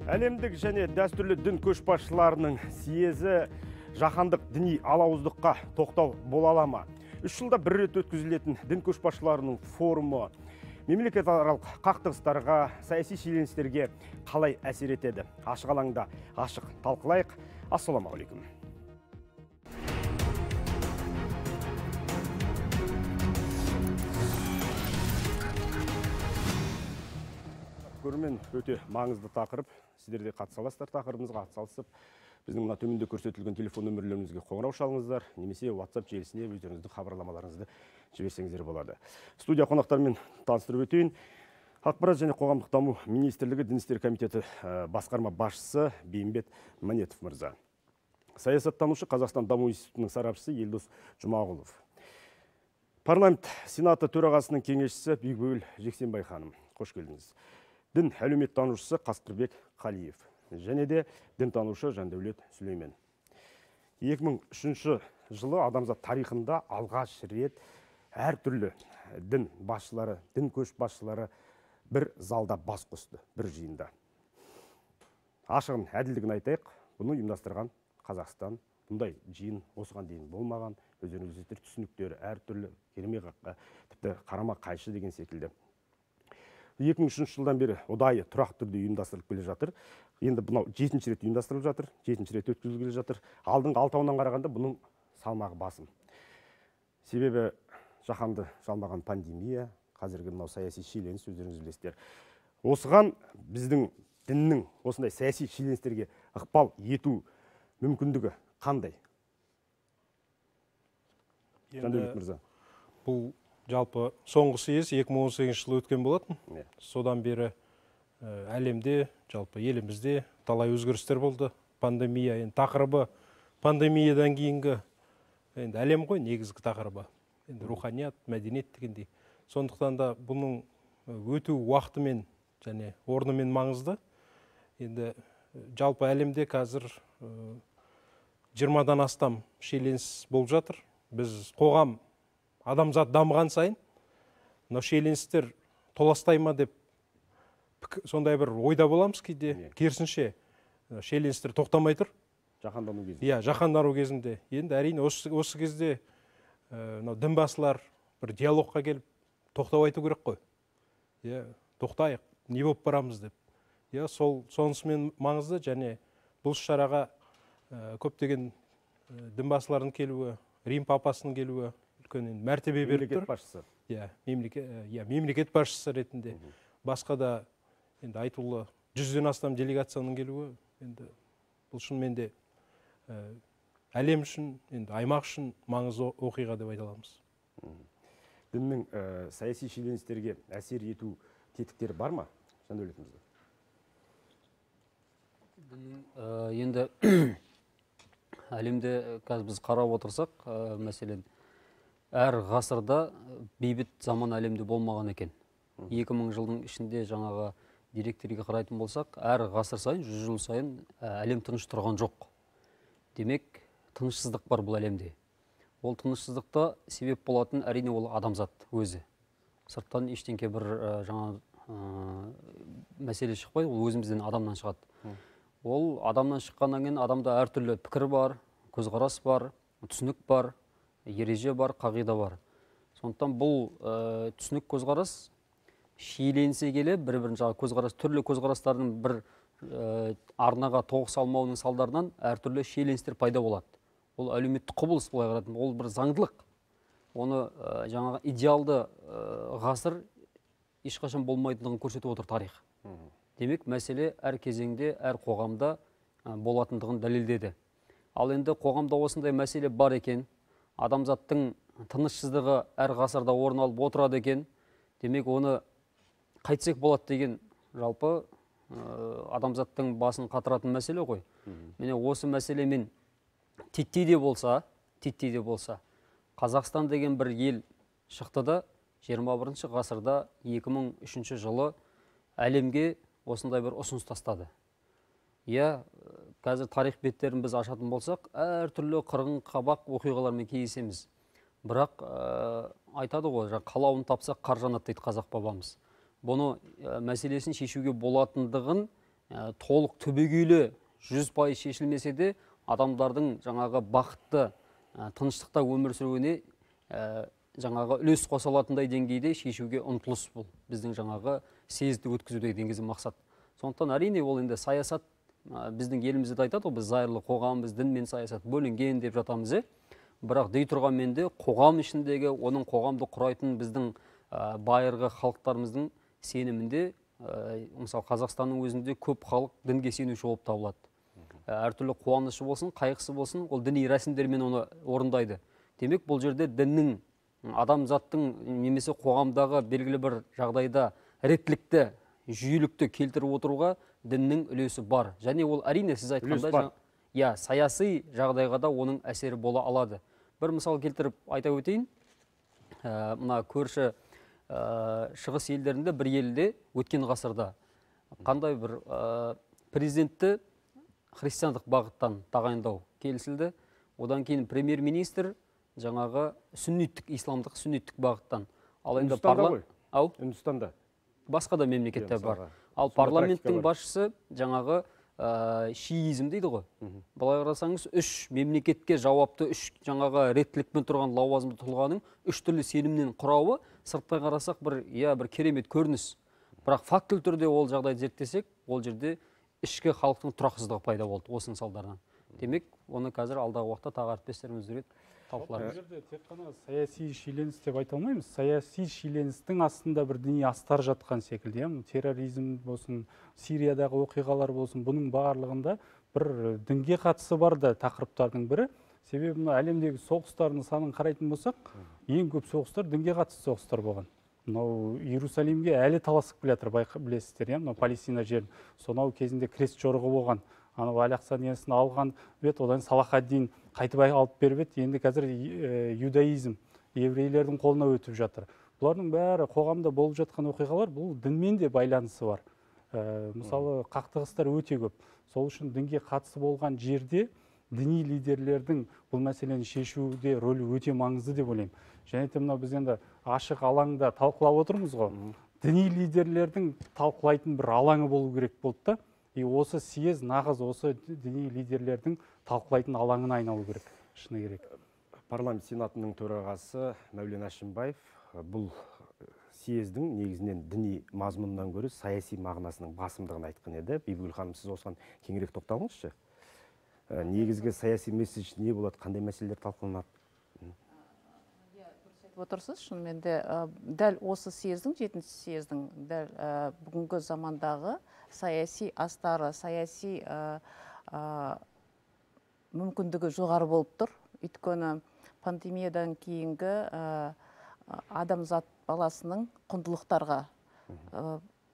Әлемдік және дәстүрлі дін көшбасшыларының съезі жаһандық діни алауыздыққа тоқтау бола ала ма? 3 жылда бір рет өткізілетін дін көшбасшыларының форумы мемлекетаралық қақтығыстарға, саяси шиеленістерге қалай әсер етеді? Ашық алаңда ашық талқылайық. Ассаламағалейкум. Көрермен, өте маңызды тақырып. Сіздер де қатыса аласыздар тақырыбымызға атсалысып, біздің мына төменде көрсетілген телефон нөмірлерімізге қоңырау шалыңыздар, немесе WhatsApp желісіне өздеріңіздің хабарламаларыңызды жіберсеңіздер болады. Студия қонақтарымен таныстырып өтейін. Ақпарат және қоғамдық даму министрлігі Дін істері комитеті басқарма басшысы Бейімбет Манетов мырза. Саясаттанушы Қазақстан даму институтының сарапшысы Елдос Жұмағұлов. Парламент Сенаты төрағасының кеңесшісі Бекбөгіл Жексенбай ханым. Қош келдіңіз. Дін әлеуметтанушысы Қасқырбек Қалиев. Және де дінтанушы Жандәулет Сүлеймен. 2003 жылы адамзат тарихында алғаш рет әртүрлі дін басшылары, дін көшбасшылары бір залда бас қосты, бір жиында. Ашығын әділдігін айтайық, бұны ұйымдастырған Қазақстан. Бұндай жиын осыған дейін болмаған, өздеріңіздің түсініктері әртүрлі, тіпті қарама қайшы деген секілді. 2003 жылдан бері ұдайы тұрақты түрде ұйымдастырылып келе жатыр. Енді бұнау 7-ші рет ұйымдастырылып жатыр, 7-ші рет өткізіліп келе жатыр. Алдыңғы 6-ынан қарағанда бұның салмағы басым. Себебі жаһанды жалмаған пандемия, қазіргі мынау саяси шиеленіс, өздеріңіз білесіздер. Осыған біздің діннің осындай саяси шиеленістерге ықпал ету мүмкіндігі қандай? Жандәулет мырза. Бұл жалпы соңғы съез 2018 жылы өткен болатын. Содан бері әлемде, жалпы елімізде талай өзгерістер болды. Пандемия, тақырыбы пандемиядан кейінгі әлем ғой негізгі тақырыбы. Руханият, мәдениет дегендей. Сондықтан да бұның өту уақытымен және орнымен маңызды. Енді жалпы әлемде қазір 20-дан астам шиеленіс болып жатыр. Біз қоғам адамзат дамыған сайын, мына шиеленістер толастай ма деп сондай бір ойда боламыз кейде. Керісінше шиеленістер тоқтамай тұр. Жаһандану кезінде. Иә, жаһандану кезінде. Енді әрине осы кезде дін басылар бір диалогқа келіп тоқтау айту керек қой. Иә, тоқтайық, не болып барамыз деп. Иә, сонысымен маңызды, және бұл шараға көптеген дін басылардың келуі, Рим папасының келуі үлкен мәртебе беріп тұр. Мемлекет басшысы. Мемлекет басшысы ретінде. Басқа да енді айтулы 100-ден астам делегацияның келуі, енді бұл шынымен де әлем үшін, енді аймақ үшін маңызды оқиға деп айта аламыз. Діннің саяси шиеленістерге әсер ету тетіктері бар ма? Жандәулет мырза. Енді әлемде қазір біз қарап отырсақ, мәселен, әр ғасырда бейбіт заман әлемде болмаған екен. 2000 жылдың ішінде жаңағы деректерге қарайтын болсақ, әр ғасыр сайын, 100 жыл сайын әлем тыныш тұрған жоқ. Демек, тынышсыздық бар бұл әлемде. Ол тынышсыздықта себеп болатын әрине ол адамзат өзі. Сырттан ештеңке бір жаңа мәселе шықпайды, ол өзімізден адамнан шығады. Ол адамнан шыққаннан кейін адамда әртүрлі пікір бар, көзқарас бар, түсінік бар, ереже бар, қағида бар. Сондықтан бұл түсінік көзқарас шиеленісе келе бір-бірін түрлі көзқарастардың бір арнаға тоғыс алмауының салдарынан әртүрлі шиеленістер пайда болады. Ол әлеуметтік құбылыс былай қарайтын, ол бір заңдылық. Оны жаңағы идеалды ғасыр ешқашан болмайтындығын көрсетіп отыр тарих. Демек, мәселе әр кезеңде, әр қоғамда болатындығын дәлелдеді. Ал енді қоғамда осындай мәселе бар екен, адамзаттың тынышсыздығы әр ғасырда орын алып отырады екен, демек оны қайтсек болады деген жалпы адамзаттың басын қатыратын мәселе ғой. Міне осы мәселемен титтей де болса, Қазақстан деген бір ел шықты да 21 ғасырда 2003 жылы әлемге осындай бір ұсыныс тастады. Иә, қазір тарих беттерін біз ашатын болсақ, әртүрлі қырғын қабақ оқиғалармен кездесеміз. Бірақ айтады ғой, қалауын тапсақ қар жанады дейді қазақ бабамыз. Бұны мәселесін шешуге болатындығын толық түбегейлі 100% шешілмесе де адамдардың жаңағы бақытты тыныштықта өмір сүруіне жаңағы үлес қоса алатындай деңгейде шешуге ұмтылыс бұл біздің жаңағы съезді өткізудегі негізгі мақсат. Сондықтан әрине ол енді саясат біздің елімізде де айтады ғой, біз зайырлы қоғамбыз, дін мен саясат бөлінген деп жатамыз. Бірақ дей тұрғанмен де қоғам ішіндегі оның қоғамды құрайтын біздің байырғы халықтарымыздың сенімінде, мысалы Қазақстанның өзінде көп халық дінге сенуші болып табылады. Әртүрлі қуанышы болсын, қайғысы болсын, ол діни рәсімдермен оны орындайды. Демек, бұл жерде діннің адамзаттың немесе қоғамдағы белгілі бір жағдайда реттілікті, жүйелікті келтіріп отыруға діннің үлесі бар. Және ол әрине сіз айтқандай, саяси жағдайға да оның әсері бола алады. Бір мысал келтіріп айта өтейін. Мына көрші шығыс елдерінде бір елде өткен ғасырда қандай бір президентті христиандық бағыттан тағайындау келісілді. Одан кейін премьер-министр жаңағы сүнниттік, исламдық сүнниттік бағыттан. Ал енді Үндістанда басқа да мемлекеттер бар. Ал парламенттің басшысы жаңағы шиизм дейді ғой. Былай қарасаңыз, 3 мемлекетке жауапты, 3 жаңағы реттілікпен тұрған лауазымды тұлғаның 3 түрлі сенімнен құрауы сырттай қарасақ бір керемет көрініс. Бірақ фактілі түрде ол жағдайды зерттесек, ол жерде ішкі халықтың тұрақсыздығы пайда болды осының салдарынан. Демек, оны қазір алдағы уақытта тағы әріптестеріміз талқылаймыз. Бұл жерде тек қана саяси шиеленіс деп айта алмаймыз. Саяси шиеленістің астында бір діни астар жатқан секілді. Терроризм болсын, Сириядағы оқиғалар болсын, бұның барлығында бір дінге қатысы бар да тақырыптардың бірі. Себебі әлемдегі соғыстардың санын қарайтын болсақ, ең көп соғыстар дінге қатысты соғыстар болған. Мынау Иерусалимге әлі таласып келе жатыр, білесіздер, мынау Палестина жерін. Сонау кезінде крест жорығы болған. Анау Әл-Ақса несін алған бет, одан Салахаддин қайтып алып беріп, енді қазір юдаизм, еврейлердің қолына өтіп жатыр. Бұлардың бәрі қоғамда болып жатқан оқиғалар, бұл дінмен де байланысы бар. Мысалы, қақтығыстар өте көп. Сол үшін дінге қатысы болған жерде діни лидерлердің бұл мәселені шешуде рөлі өте маңызды деп ойлаймын. Және де мынау біз енді ашық алаңда талқылап отырмыз ғой. Діни лидерлердің талқылайтын бір алаңы болу керек болды да. Осы съезд нағыз осы діни лидерлердің талқылайтын алаңына айналу керек, шыны керек. Парламент сенатының төрағасы Мәулен Әшімбаев бұл съездің негізінен діни мазмұнынан гөрі саяси мағынасының басымдығын айтқан еді. Бибігүл ханым, сіз осыған кеңірек тоқталыңызшы. Негізгі саяси месседж не болады, қандай мәселелер талқыланады? Отырсыз, шынымен де дәл осы съездің, 7-ші съездің дәл бүгінгі замандағы саяси астары, саяси мүмкіндігі жоғары болып тұр. Өйткені пандемиядан кейінгі адамзат баласының құндылықтарға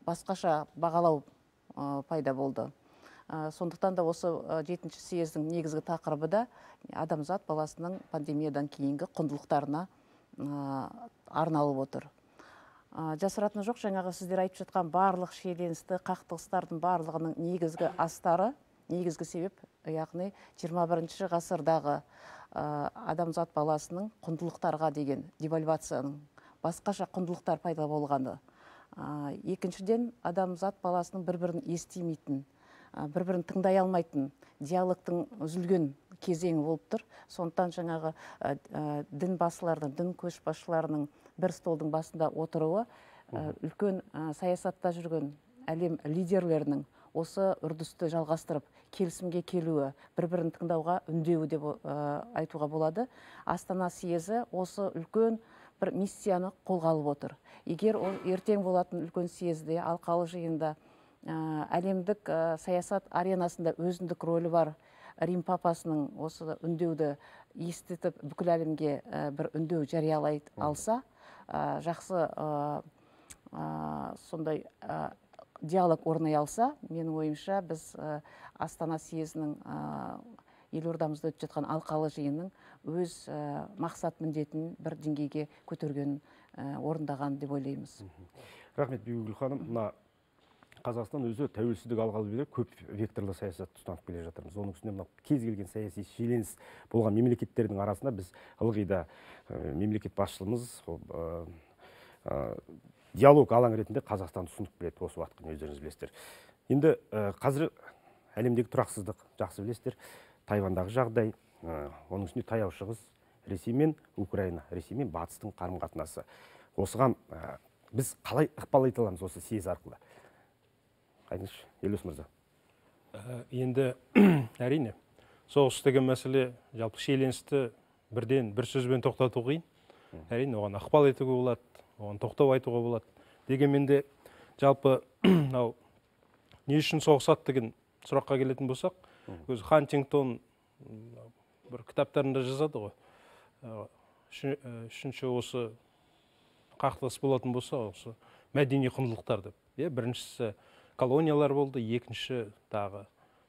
басқаша бағалау пайда болды. Сондықтан да осы 7-ші съездің негізгі тақырыбы да адамзат баласының пандемиядан кейінгі құндылықтарына арналып отыр. Жасыратыны жоқ, жаңағы сіздер айтып жатқан барлық шиеленісті, қақтығыстардың барлығының негізгі астары, негізгі себеп, яғни 21-ші ғасырдағы адамзат баласының құндылықтарға деген девальвацияның басқаша құндылықтар пайда болғаны. Екіншіден, адамзат баласының бір-бірін естимейтін, бір-бірін тыңдай алмайтын, диалогтың үзілген кезеңі болып тұр. Сондықтан жаңағы дін басылардың, дін көшбасшыларының бір столдың басында отыруы, үлкен саясатта жүрген әлем лидерлерінің осы үрдісті жалғастырып, келісімге келуі, бір-бірін тыңдауға үндеуі деп айтуға болады. Астана съезі осы үлкен бір миссияны қолға алып отыр. Егер ол ертең болатын үлкен съезде, алқалы жиында әлемдік саясат аренасында өзіндік рөлі бар Рим папасының осы үндеуді естітіп бүкіл әлемге бір үндеу жариялай алса, жақсы сондай диалог орнай алса, менің ойымша біз Астана съезінің елордамызда өтіп жатқан алқалы жиынның өз мақсат міндетін бір деңгейге көтергенін орындаған деп ойлаймыз. Рахмет, Бибігүл ханым. Қазақстан өзі тәуелсіздік алғалы бері көп векторлы саясат ұстанып келе жатырмыз. Оның үстіне кез келген саяси шиеленіс болған мемлекеттердің арасында біз ылғи да мемлекет басшылығымыз диалог алаң ретінде Қазақстанды ұсынып келеді осы уақытқа, өздеріңіз білесіздер. Енді қазір әлемдегі тұрақсыздық жақсы білесіздер. Тайвандағы жағдай, оның үстіне таяу шығыс, Ресей мен Украина, Ресей мен батыстың қарым-қатынасы. Осыған біз қалай ықпал ете аламыз осы съезд арқылы? Айтыңызшы, Елеус мырза. Енді әрине, соғыс деген мәселе жалпы шиеленісті бірден бір сөзбен тоқтату қиын. Әрине, оған ықпал етуге болады, оған тоқтау айтуға болады. Дегенмен де жалпы не үшін соғысады деген сұраққа келетін болсақ, өзі Хантингтон бір кітаптарында жазады ғой. Үшінші осы қақтығыс болатын болса, осы мәдени құндылықтар деп. Біріншісі колониялар болды, екінші тағы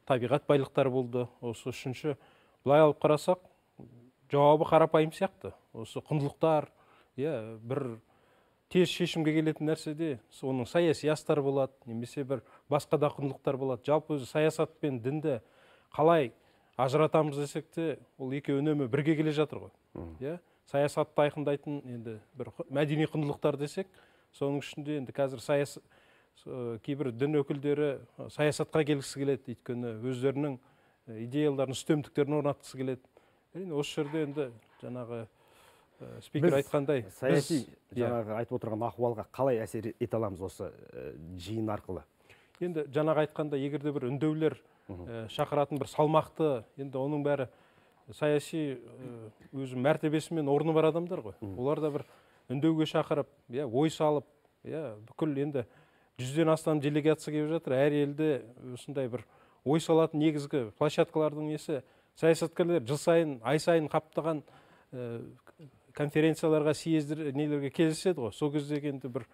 табиғат байлықтары болды. Осы үшінші былай алып қарасақ, жауабы қарапайым сияқты. Осы құндылықтар, бір тез шешімге келетін нәрседе, оның саяси астары болады, немесе бір басқа да құндылықтар болады. Жалпы өзі саясат пен дінді қалай ажыратамыз десек те, ол екеуі үнемі бірге келе жатыр ғой. Саясатты айқындайтын енді бір мәдени құндылықтар десек, соның ішінде енді қазір кейбір дін өкілдері саясатқа келгісі келеді, өйткені өздерінің идеяларын, үстемдіктерін орнатқысы келеді. Осы жерде енді жаңағы спикер айтқандай, саяси жаңағы айтып отырған ахуалға қалай әсер ете аламыз осы жиын арқылы? Енді жаңағы айтқанда, егерде бір үндеулер шақыратын бір салмақты, енді оның бәрі саяси өзі мәртебесімен орны бар адамдар ғой. Олар да бір үндеуге шақырып, ой салып, бүкіл енді 100-ден астам делегация келіп жатыр. Әр елде осындай бір ой салатын негізгі площадкалардың несі, саясаткерлер жыл сайын, ай сайын қаптаған конференцияларға, съездер, нелерге кездеседі ғой. Сол кезде енді бір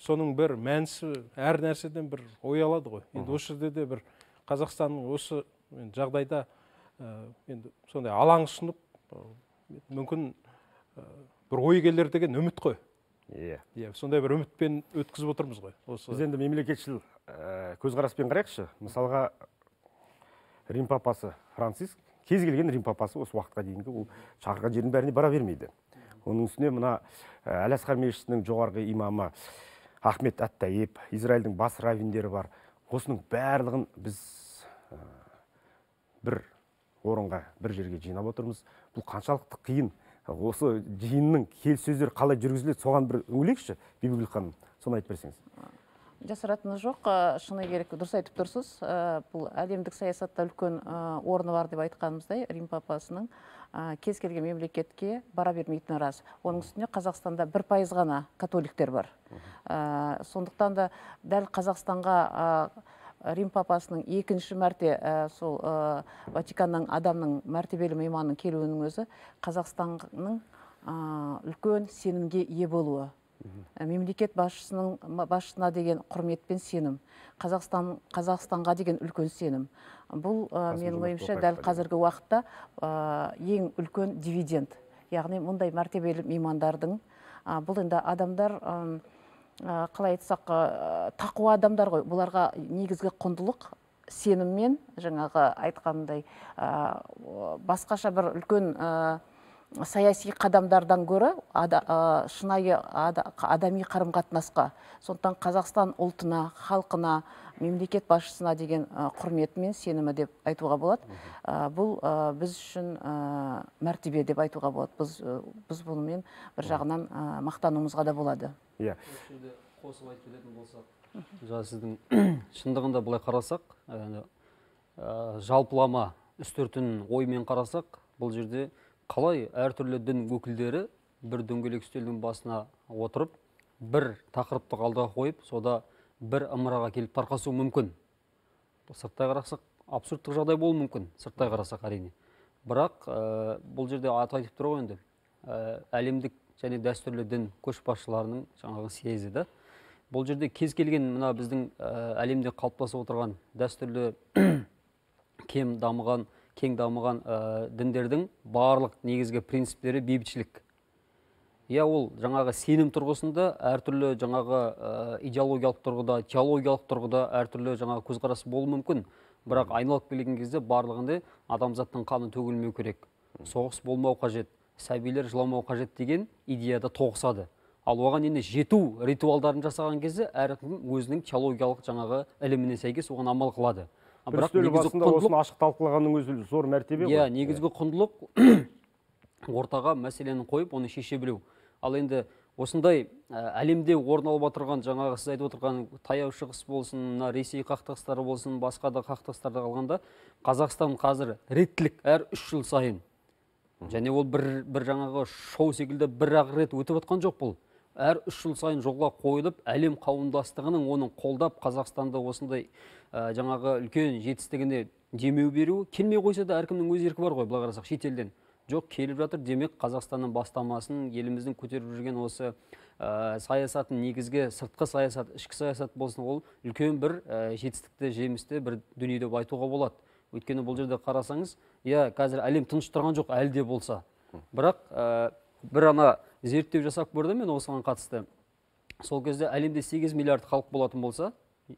соның бір мәнісі әр нәрседен бір ой алады ғой. Енді осы жерде де бір Қазақстанның осы жағдайда енді сондай алаң ұсынып, мүмкін бір ой келер деген үміт қой. Сондай бір үмітпен өткізіп отырмыз ғой. Біз енді мемлекетшіл көзқараспен қарайықшы. Мысалға Рим папасы Франциск, кез келген Рим папасы осы уақытқа дейінгі ол шақырған жердің бәріне бара бермейді. Оның үстіне мына Әл-Асқар мешітінің жоғарғы имамы Ахмет Ат-Тайиб, Израильдің бас раввиндері бар. Осының барлығын біз бір орынға, бір жерге жинап отырмыз. Бұл қаншалықты қиын. Осы жиынның келіссөздері қалай жүргізіледі, соған бір үңілейікші, Бибігүл ханым, соны айтып берсеңіз. Жасыратыны жоқ, шыны керек, дұрыс айтып тұрсыз. Бұл әлемдік саясатта үлкен орны бар деп айтқанымыздай, Рим папасының кез келген мемлекетке бара бермейтіні рас. Оның үстіне Қазақстанда 1% ғана католиктер бар. Сондықтан да дәл Қазақстанға Рим папасының екінші мәрте сол Ватиканның адамның мәртебелі мейманның келуінің өзі Қазақстанның үлкен сенімге ие болуы. Мемлекет басшысына деген құрмет пен сенім, Қазақстанға деген үлкен сенім. Бұл менің ойымша дәл қазіргі уақытта ең үлкен дивиденд. Яғни мұндай мәртебелі меймандардың, бұл енді адамдар, қалай айтсақ, тақуа адамдар ғой, бұларға негізгі құндылық сеніммен, жаңағы айтқандай, басқаша бір үлкен саяси қадамдардан көрі шынайы адами қарым-қатынасқа. Сондықтан Қазақстан ұлтына, халқына, мемлекет басшысына деген құрметі мен сенімі деп айтуға болады. Бұл біз үшін мәртебе деп айтуға болады. Біз бұнымен бір жағынан мақтануымызға да болады. Қосып айтып кететін болсақ, сіздің шындығында былай қарасақ, жалпылама үстіртін оймен қарасақ, бұл жерде қалай әртүрлі дін өкілдері бір дөңгелек үстелдің басына отырып, бір тақырыпты алдыға қойып, сода бір ымыраға келіп тарқасу мүмкін. Сырттай қарасақ, абсурдтық жағдай болуы мүмкін, сырттай қарасақ әрине. Бірақ бұл жерде айтып тұр ғой енді, әлемдік және дәстүрлі дін көшбасшыларының жаңағы съезі да. Бұл жерде кез келген мына біздің әлемде қалыптасып отырған дәстүрлі кең дамыған діндердің барлық негізгі принциптері бейбітшілік. Ол жаңағы сенім тұрғысында әртүрлі жаңағы идеологиялық тұрғыда, теологиялық тұрғыда әртүрлі жаңағы көзқарас болуы мүмкін. Бірақ айналып келген кезде барлығында адамзаттың қаны төгілмеу керек, соғыс болмау қажет, сәбилер жыламау қажет деген идеяда тоғысады. Ал оған енді жету ритуалдарын жасаған кезде әркім өзінің теологиялық жаңағы іліміне сәйкес оған амал қылады. Бір үстел басында осыны ашық талқылағанның өзі зор мәртебе ғой. Иә, негізгі құндылық ортаға мәселені қойып, оны шеше білу. Ал енді осындай әлемде орын алып отырған, жаңағы сіз айтып отырған таяу шығыс болсын, Ресей қақтығыстары болсын, басқа да қақтығыстарда қалғанда, Қазақстан қазір реттілік әр 3 жыл сайын. Және ол бір жаңағы шоу секілді бір-ақ рет өтіп отқан жоқ бұл. Әр 3 жыл сайын жолға қойылып, әлем қауымдастығының оның қолдап Қазақстанда осындай жаңағы үлкен жетістігіне демеу беру, келмей қойса да әркімнің өз еркі бар ғой, былай қарасақ шетелден. Жоқ, келіп жатыр, демек Қазақстанның бастамасын, еліміздің көтеріп жүрген осы саясатын, негізгі сыртқы саясат, ішкі саясат болсын, ол үлкен бір жетістікті, жемісті бір дүние деп айтуға болады. Өйткені бұл жерде қарасаңыз, иә, қазір әлем тыныш тұрған жоқ, әлде болса. Бірақ бір ана зерттеу жасап көрдім мен осыған қатысты. Сол кезде әлемде 8 миллиард халық болатын болса,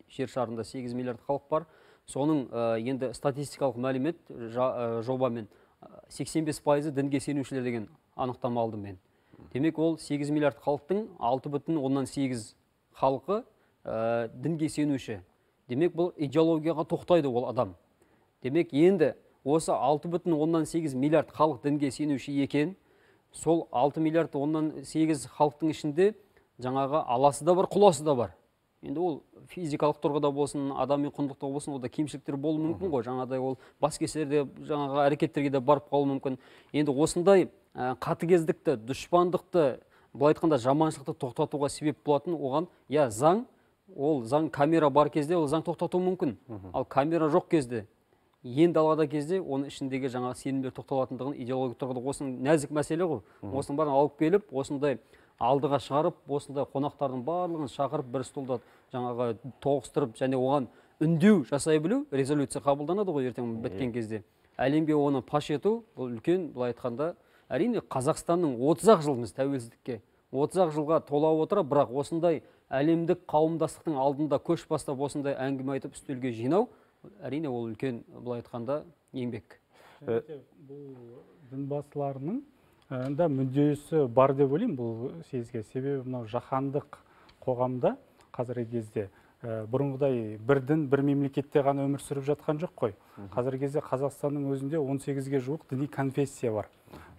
жер шарында 8 миллиард халық бар. Соның енді статистикалық мәлімет жобамен 85% дінге сенушілер деген анықтама алдым мен. Демек ол 8 миллиард халықтың 6,8 халқы дінге сенуші. Демек бұл идеологияға тоқтайды ол адам. Демек енді осы 6,8 миллиард халық дінге сенуші екен, сол 6 миллиард 8 халықтың ішінде жаңағы аласы да бар, құласы да бар. Енді ол физикалық тұрғыда болсын, адами құндылықта болсын, ода кемшіліктер болуы мүмкін ғой. Жаңағыдай ол бас кесерде жаңағы әрекеттерге де барып қалуы мүмкін. Енді осындай қатыгездікті, дұшпандықты, былай айтқанда жаманшылықты тоқтатуға себеп болатын оған, я заң, ол заң камера бар кезде ол заң тоқтатуы мүмкін. Ал камера жоқ кезде, енді алғада кезде оның ішіндегі жаңағы сенімдер тоқталатындығын идеологиялық тұрғыда осының нәзік мәселе ғой. Осының бәрін алып келіп, осындай алдыға шығарып, осындай қонақтардың барлығын шақырып, бір столда жаңағы тоғыстырып, және оған үндеу жасай білу, резолюция қабылданады ғой ертең біткен кезде. Әлемге оны паш ету, бұл үлкен, былай айтқанда, әрине Қазақстанның 30-ақ жылымыз тәуелсіздікке, 30-ақ жылға тола отыра, бірақ осындай әлемдік қауымдастықтың алдында көш бастап осындай әңгіме айтып үстелге жинау, әрине ол үлкен, былай айтқанда, еңбек. Бұл дінбасыларының да мүддесі бар деп ойлаймын бұл съезге. Себебі мынау жаһандық қоғамда қазіргі кезде бұрынғыдай бір дін, бір мемлекетте ғана өмір сүріп жатқан жоқ қой. Қазіргі кезде Қазақстанның өзінде 18-ге жуық діни конфессия бар.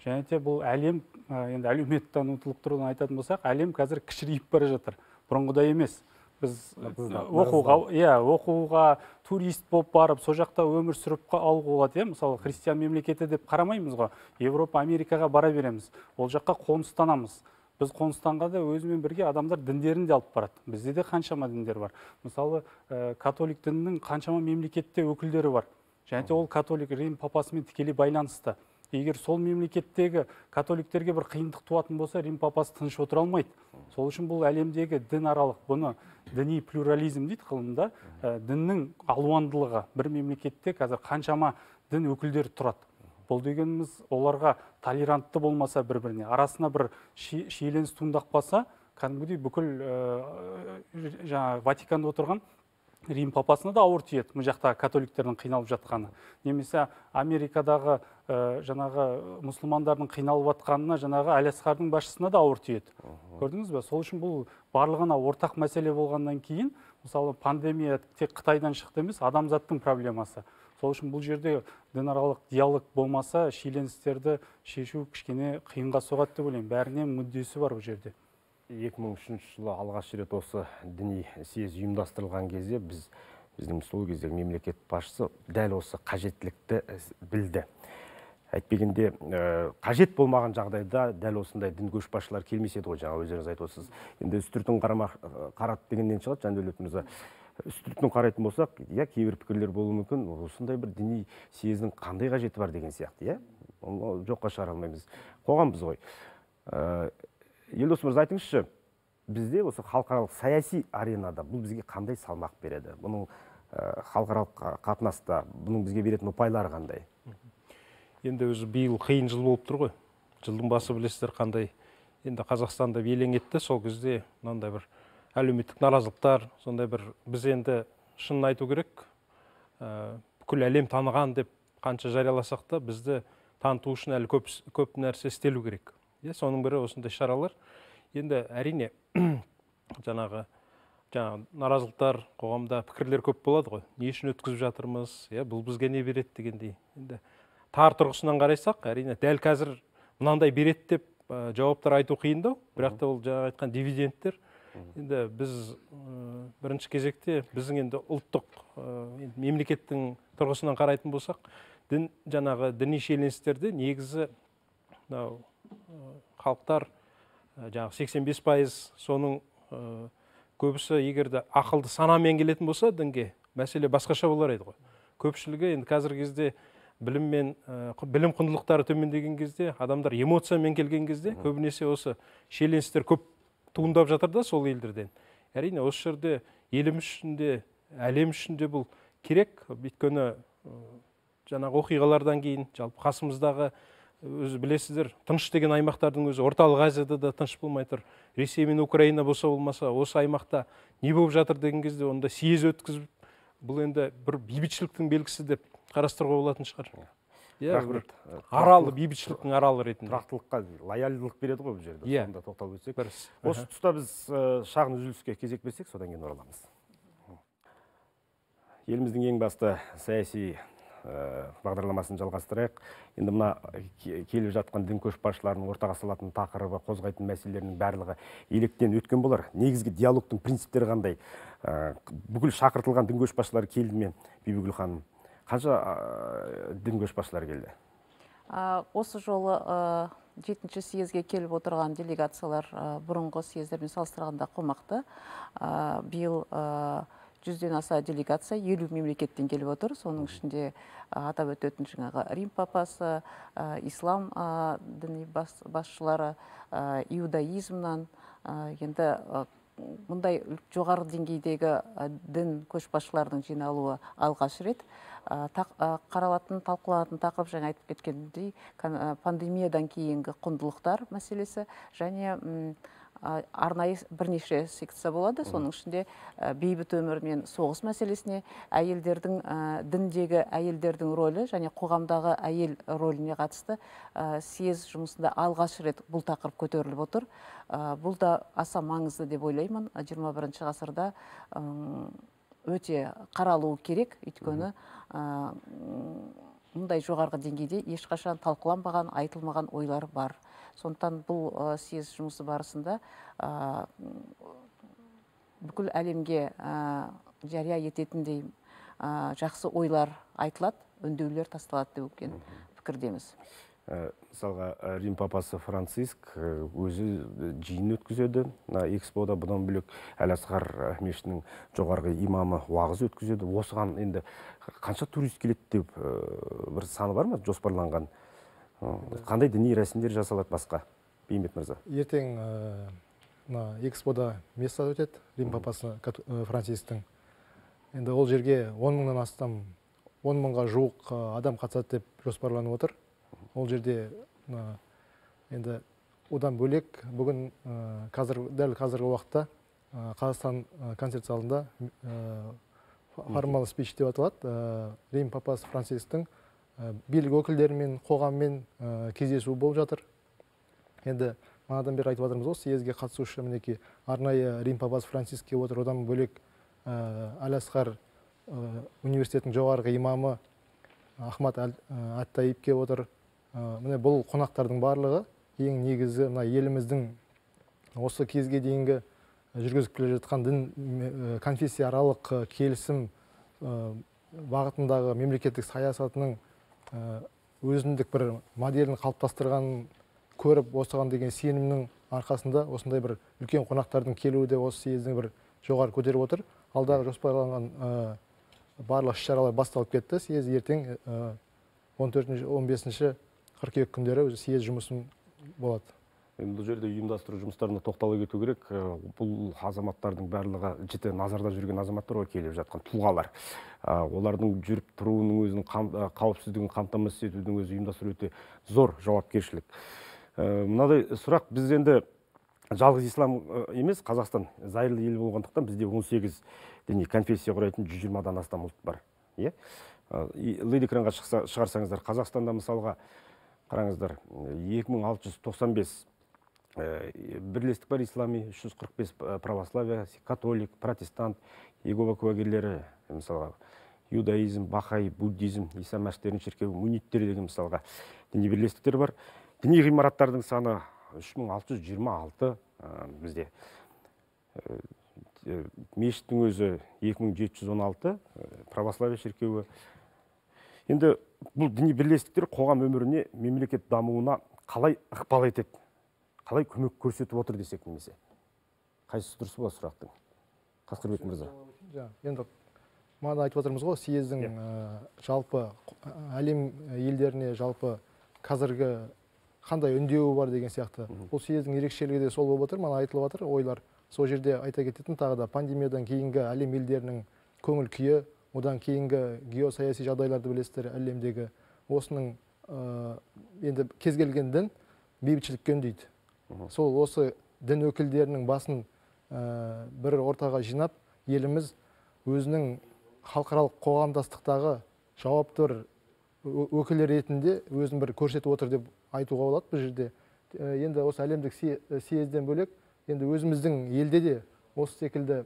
Және де бұл әлем, енді әлеуметтанушылық тұрғыдан айтатын болсақ, әлем қазір кішірейіп бара жатыр. Бұрынғыдай емес. Біз оқуға турист болып барып, сол жақта өмір сүріп алуға болады. Мысалы, христиан мемлекеті деп қарамаймыз ғой. Европа, Америкаға бара береміз. Ол жаққа қоныстанамыз. Біз қоныстанға да өзімен бірге адамдар діндерін де алып барады. Бізде де қаншама діндер бар. Мысалы, католик дінінің қаншама мемлекетте өкілдері бар. Және де ол католик Рим папасымен тікелей байланысты. Егер сол мемлекеттегі католиктерге бір қиындық туатын болса, Рим папасы тыныш отыра алмайды. Сол үшін бұл әлемдегі дін аралық, бұны діни плюрализм дейді ғылымда, діннің алуандылығы. Бір мемлекетте қазір қаншама дін өкілдері тұрады. Бұл дегеніміз оларға толерантты болмаса бір-біріне, арасына бір шиеленіс туындап қалса, кәдімгідей бүкіл Ватиканда отырған Рим папасына да ауыр тиеді, бұл жақта католиктердің қиналып жатқаны. Немесе Америкадағы жаңағы мұсылмандардың қиналып жатқанына жаңағы Әлиасқардың басшысына да ауыр тиеді. Көрдіңіз бе? Сол үшін бұл барлығына ортақ мәселе болғаннан кейін, мысалы пандемия тек Қытайдан шықты емес, адамзаттың проблемасы. Сол үшін бұл жерде дінаралық диалог болмаса, шиеленістерді шешу кішкене қиынға соғады деп ойлаймын. Бәріне мүддесі бар бұл жерде. 2003 жылы алғаш рет осы діни съез ұйымдастырылған кезде біздің сол кездегі мемлекет басшысы дәл осы қажеттілікті білді. Әйтпегенде қажет болмаған жағдайда дәл осындай дін көшбасшылар келмес еді ғой, жаңа өздеріңіз айтып отырсыз. Енді үстіртін қарат дегеннен шығады, Жандәулет мырза. Үстіртін қарайтын болсақ, иә, кейбір пікірлер болуы мүмкін, осындай бір діни съездің қандай қажеті бар деген сияқты, иә? Оны жоққа шығара алмаймыз. Қоғамбыз ғой. Елдос мырза, айтыңызшы, бізде осы халықаралық саяси аренада бұл бізге қандай салмақ береді? Бұның халықаралық қатынаста бұның бізге беретін ұпайлары қандай? Енді өзі биыл қиын жыл болып тұр ғой. Жылдың басы білесіздер қандай. Енді Қазақстанда белең етті, сол кезде мынандай бір әлеуметтік наразылықтар, сондай бір біз енді шынын айту керек, бүкіл әлем таныған деп қанша жарияласақ та, бізді таныту үшін әлі көп нәрсе істелу керек. Соның бірі осындай шаралар. Енді әрине жаңағы наразылықтар қоғамда пікірлер көп болады ғой. Не үшін өткізіп жатырмыз, бұл бізге не береді дегендей. Енді тар тұрғысынан қарайсақ, әрине дәл қазір мынандай береді деп жауаптар айту қиындау, бірақ та ол жаңа айтқан дивидендтер. Енді біз бірінші кезекте біздің енді ұлттық мемлекеттің тұрғысынан қарайтын болсақ, жаңағы діни шиеленістерде негізі халықтар жаңағы 85% соның көбісі егерде ақылды санамен келетін болса дінге, мәселе басқаша болар еді ғой. Көпшілігі енді қазіргі кезде білім құндылықтары төмендеген кезде, адамдар эмоциямен келген кезде, көбінесе осы шиеленістер көп туындап жатыр да сол елдерден. Әрине осы жерде еліміз үшін де, әлем үшін де бұл керек, өйткені жаңағы оқиғалардан кейін жалпы қасымыздағы өзі білесіздер, тыныш деген аймақтардың өзі орталық Азияда да тыныш болмай тұр. Ресей мен Украина болса болмаса, осы аймақта не болып жатыр деген кезде онда съез өткізіп, бұл енді бір бейбітшіліктің белгісі деп қарастыруға болатын шығар. Рахмет. Аралы, бейбітшіліктің аралы ретінде. Тұрақтылыққа лояльділік береді ғой бұл жерде. Сонда тоқталып өтсек. Осы тұста біз шағын үзіліске кезек берсек, содан кейін ораламыз. Еліміздің ең басты саяси бағдарламасын жалғастырайық. Енді мына келіп жатқан дін көшбасшыларының ортаға салатын тақырыбы, қозғайтын мәселелерінің барлығы електен өткен болар. Негізгі диалогтың принциптері қандай? Бүкіл шақыртылған дін көшбасшылары келді ме, Бибігүл ханым? Қанша дін көшбасшылары келді? Осы жолы 7-ші съезге келіп отырған делегациялар бұрынғы съездермен салыстырғанда қомақты. Биыл 100-ден аса делегация 50 мемлекеттен келіп отыр. Соның ішінде атап өтетін жаңағы Рим папасы, ислам діни басшылары, иудаизмнан, енді мұндай жоғары деңгейдегі дін көшбасшылардың жиналуы алғаш рет. Қаралатын, талқыланатын тақырып жаңа айтып кеткендей пандемиядан кейінгі құндылықтар мәселесі және арнайы бірнеше секция болады. Соның ішінде бейбіт өмір мен соғыс мәселесіне, әйелдердің діндегі әйелдердің рөлі және қоғамдағы әйел рөліне қатысты съез жұмысында алғаш рет бұл тақырып көтеріліп отыр. Бұл да аса маңызды деп ойлаймын. 21 ғасырда өте қаралуы керек, өйткені мұндай жоғарғы деңгейде ешқашан талқыланбаған, айтылмаған ойлар бар. Сондықтан бұл съез жұмысы барысында бүкіл әлемге жария ететіндей жақсы ойлар айтылады, үндеулер тасталады деп пікірдеміз. Мысалға, Рим папасы Франциск өзі жиын өткізеді. Экспода бұдан бөлек Әл-Асқар мешітінің жоғарғы имамы уағыз өткізеді. Осыған енді қанша турист келеді деп бір саны бар ма жоспарланған? Қандай діни рәсімдер жасалады басқа? Бейімбет мырза. Ертең экспода места өтеді, Рим папасы Францисктің. Енді ол жерге 10 мыңнан астам, 10 мыңға жуық адам қатысады деп жоспарланып отыр. Ол жерде енді одан бөлек бүгін дәл қазіргі уақытта Қазақстан концерт залында формал спич деп аталады. Рим папасы Францисктің билік өкілдерімен, қоғаммен кездесу болып жатыр. Енді манадан бері айтып жатырмыз ғой, съезге қатысушы мінекей арнайы Рим папасы Франциск келіп отыр. Одан бөлек Әл-Асқар университетінің жоғарғы имамы Ахмад Ат-Таиб келіп отыр. Міне бұл қонақтардың барлығы ең негізі еліміздің осы кезге дейінгі жүргізіп келе жатқан дін конфессия аралық келісім бағытындағы мемлекеттік саясатының өзіндік бір моделін қалыптастырғанын көріп, осыған деген сенімнің арқасында осындай бір үлкен қонақтардың келуі де осы съездің бір жоғары көтеріп отыр. Алдағы жоспарланған барлық іс-шаралар басталып кетті. Съез ертең 14-15 қыркүйек күндері съез жұмысын болады. Бұл жерде ұйымдастыру жұмыстарына тоқтала кету керек. Бұл азаматтардың барлығы жіті назарда жүрген азаматтар ғой, келіп жатқан тұлғалар. Олардың жүріп тұруының өзінің қауіпсіздігін қамтамасыз етудің өзі ұйымдастыру өте зор жауапкершілік. Мынадай сұрақ, біз енді жалғыз ислам емес, Қазақстан зайырлы ел болғандықтан бізде 18 діни конфессия құрайтын 120-дан астам ұлт бар. Лид экранға шығарсаңыздар, Қазақстанда мысалға қараңыздар, 2695 бірлестік бар ислами, 345 православия, католик, протестант, Иегова куәгерлері, мысалға иудаизм, бахай, буддизм, иса мәсіхтердің шіркеуі, мунниттер деген мысалға діни бірлестіктер бар. Діни ғимараттардың саны 3626 бізде. Мешіттің өзі 2716, православия шіркеуі. Енді бұл діни бірлестіктер қоғам өміріне, мемлекет дамуына қалай ықпал етеді, қалай көмек көрсетіп отыр десек немесе. Қайсысы дұрыс болады сұрақтың? Қасқырбек мырза. Енді мана айтып отырмыз ғой, съездің жалпы әлем елдеріне жалпы қазіргі қандай үндеуі бар деген сияқты. Бұл съездің ерекшелігі де сол болып отыр, мана айтылып отыр ойлар. Сол жерде айта кететін тағы да пандемиядан кейінгі әлем елдерінің көңіл күйі, одан кейінгі геосаяси жағдайларды білесіздер әлемдегі. Осының енді кез келген дін бейбітшілікке үндейді. Сол осы дін өкілдерінің басын бір ортаға жинап, еліміз өзінің халықаралық қоғамдастықтағы жауапты өкілі ретінде өзін бір көрсетіп отыр деп айтуға болады бұл жерде. Енді осы әлемдік съезден бөлек, енді өзіміздің елде де осы секілді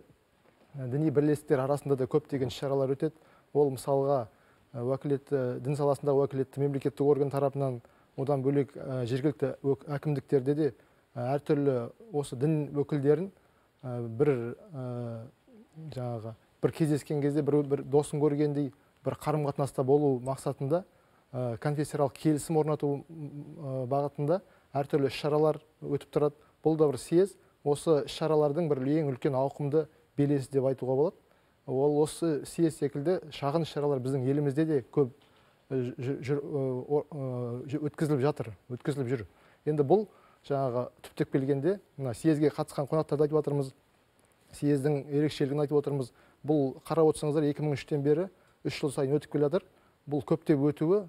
діни бірлестіктер арасында да көптеген шаралар өтеді. Ол мысалға дін саласындағы уәкілетті мемлекеттік орган тарапынан, одан бөлек жергілікті әкімдіктерде де әртүрлі осы дін өкілдерін бір кездескен кезде бір досын көргендей бір қарым-қатынаста болу мақсатында конфессияаралық келісім орнату бағытында әртүрлі іс-шаралар өтіп тұрады. Бұл да бір съезд, осы іс-шаралардың бір ең үлкен ауқымды белесі деп айтуға болады. Ол осы съезд секілді шағын іс-шаралар біздің елімізде де көп өткізіліп жүр. Енді бұл жаңағы түптеп келгенде съезге қатысқан қонақтарды айтып отырмыз, съездің ерекшелігін айтып отырмыз. Бұл қарап отырсаңыздар 2003-тен бері 3 жыл сайын өтіп келе жатыр. Бұл көптеп өтуі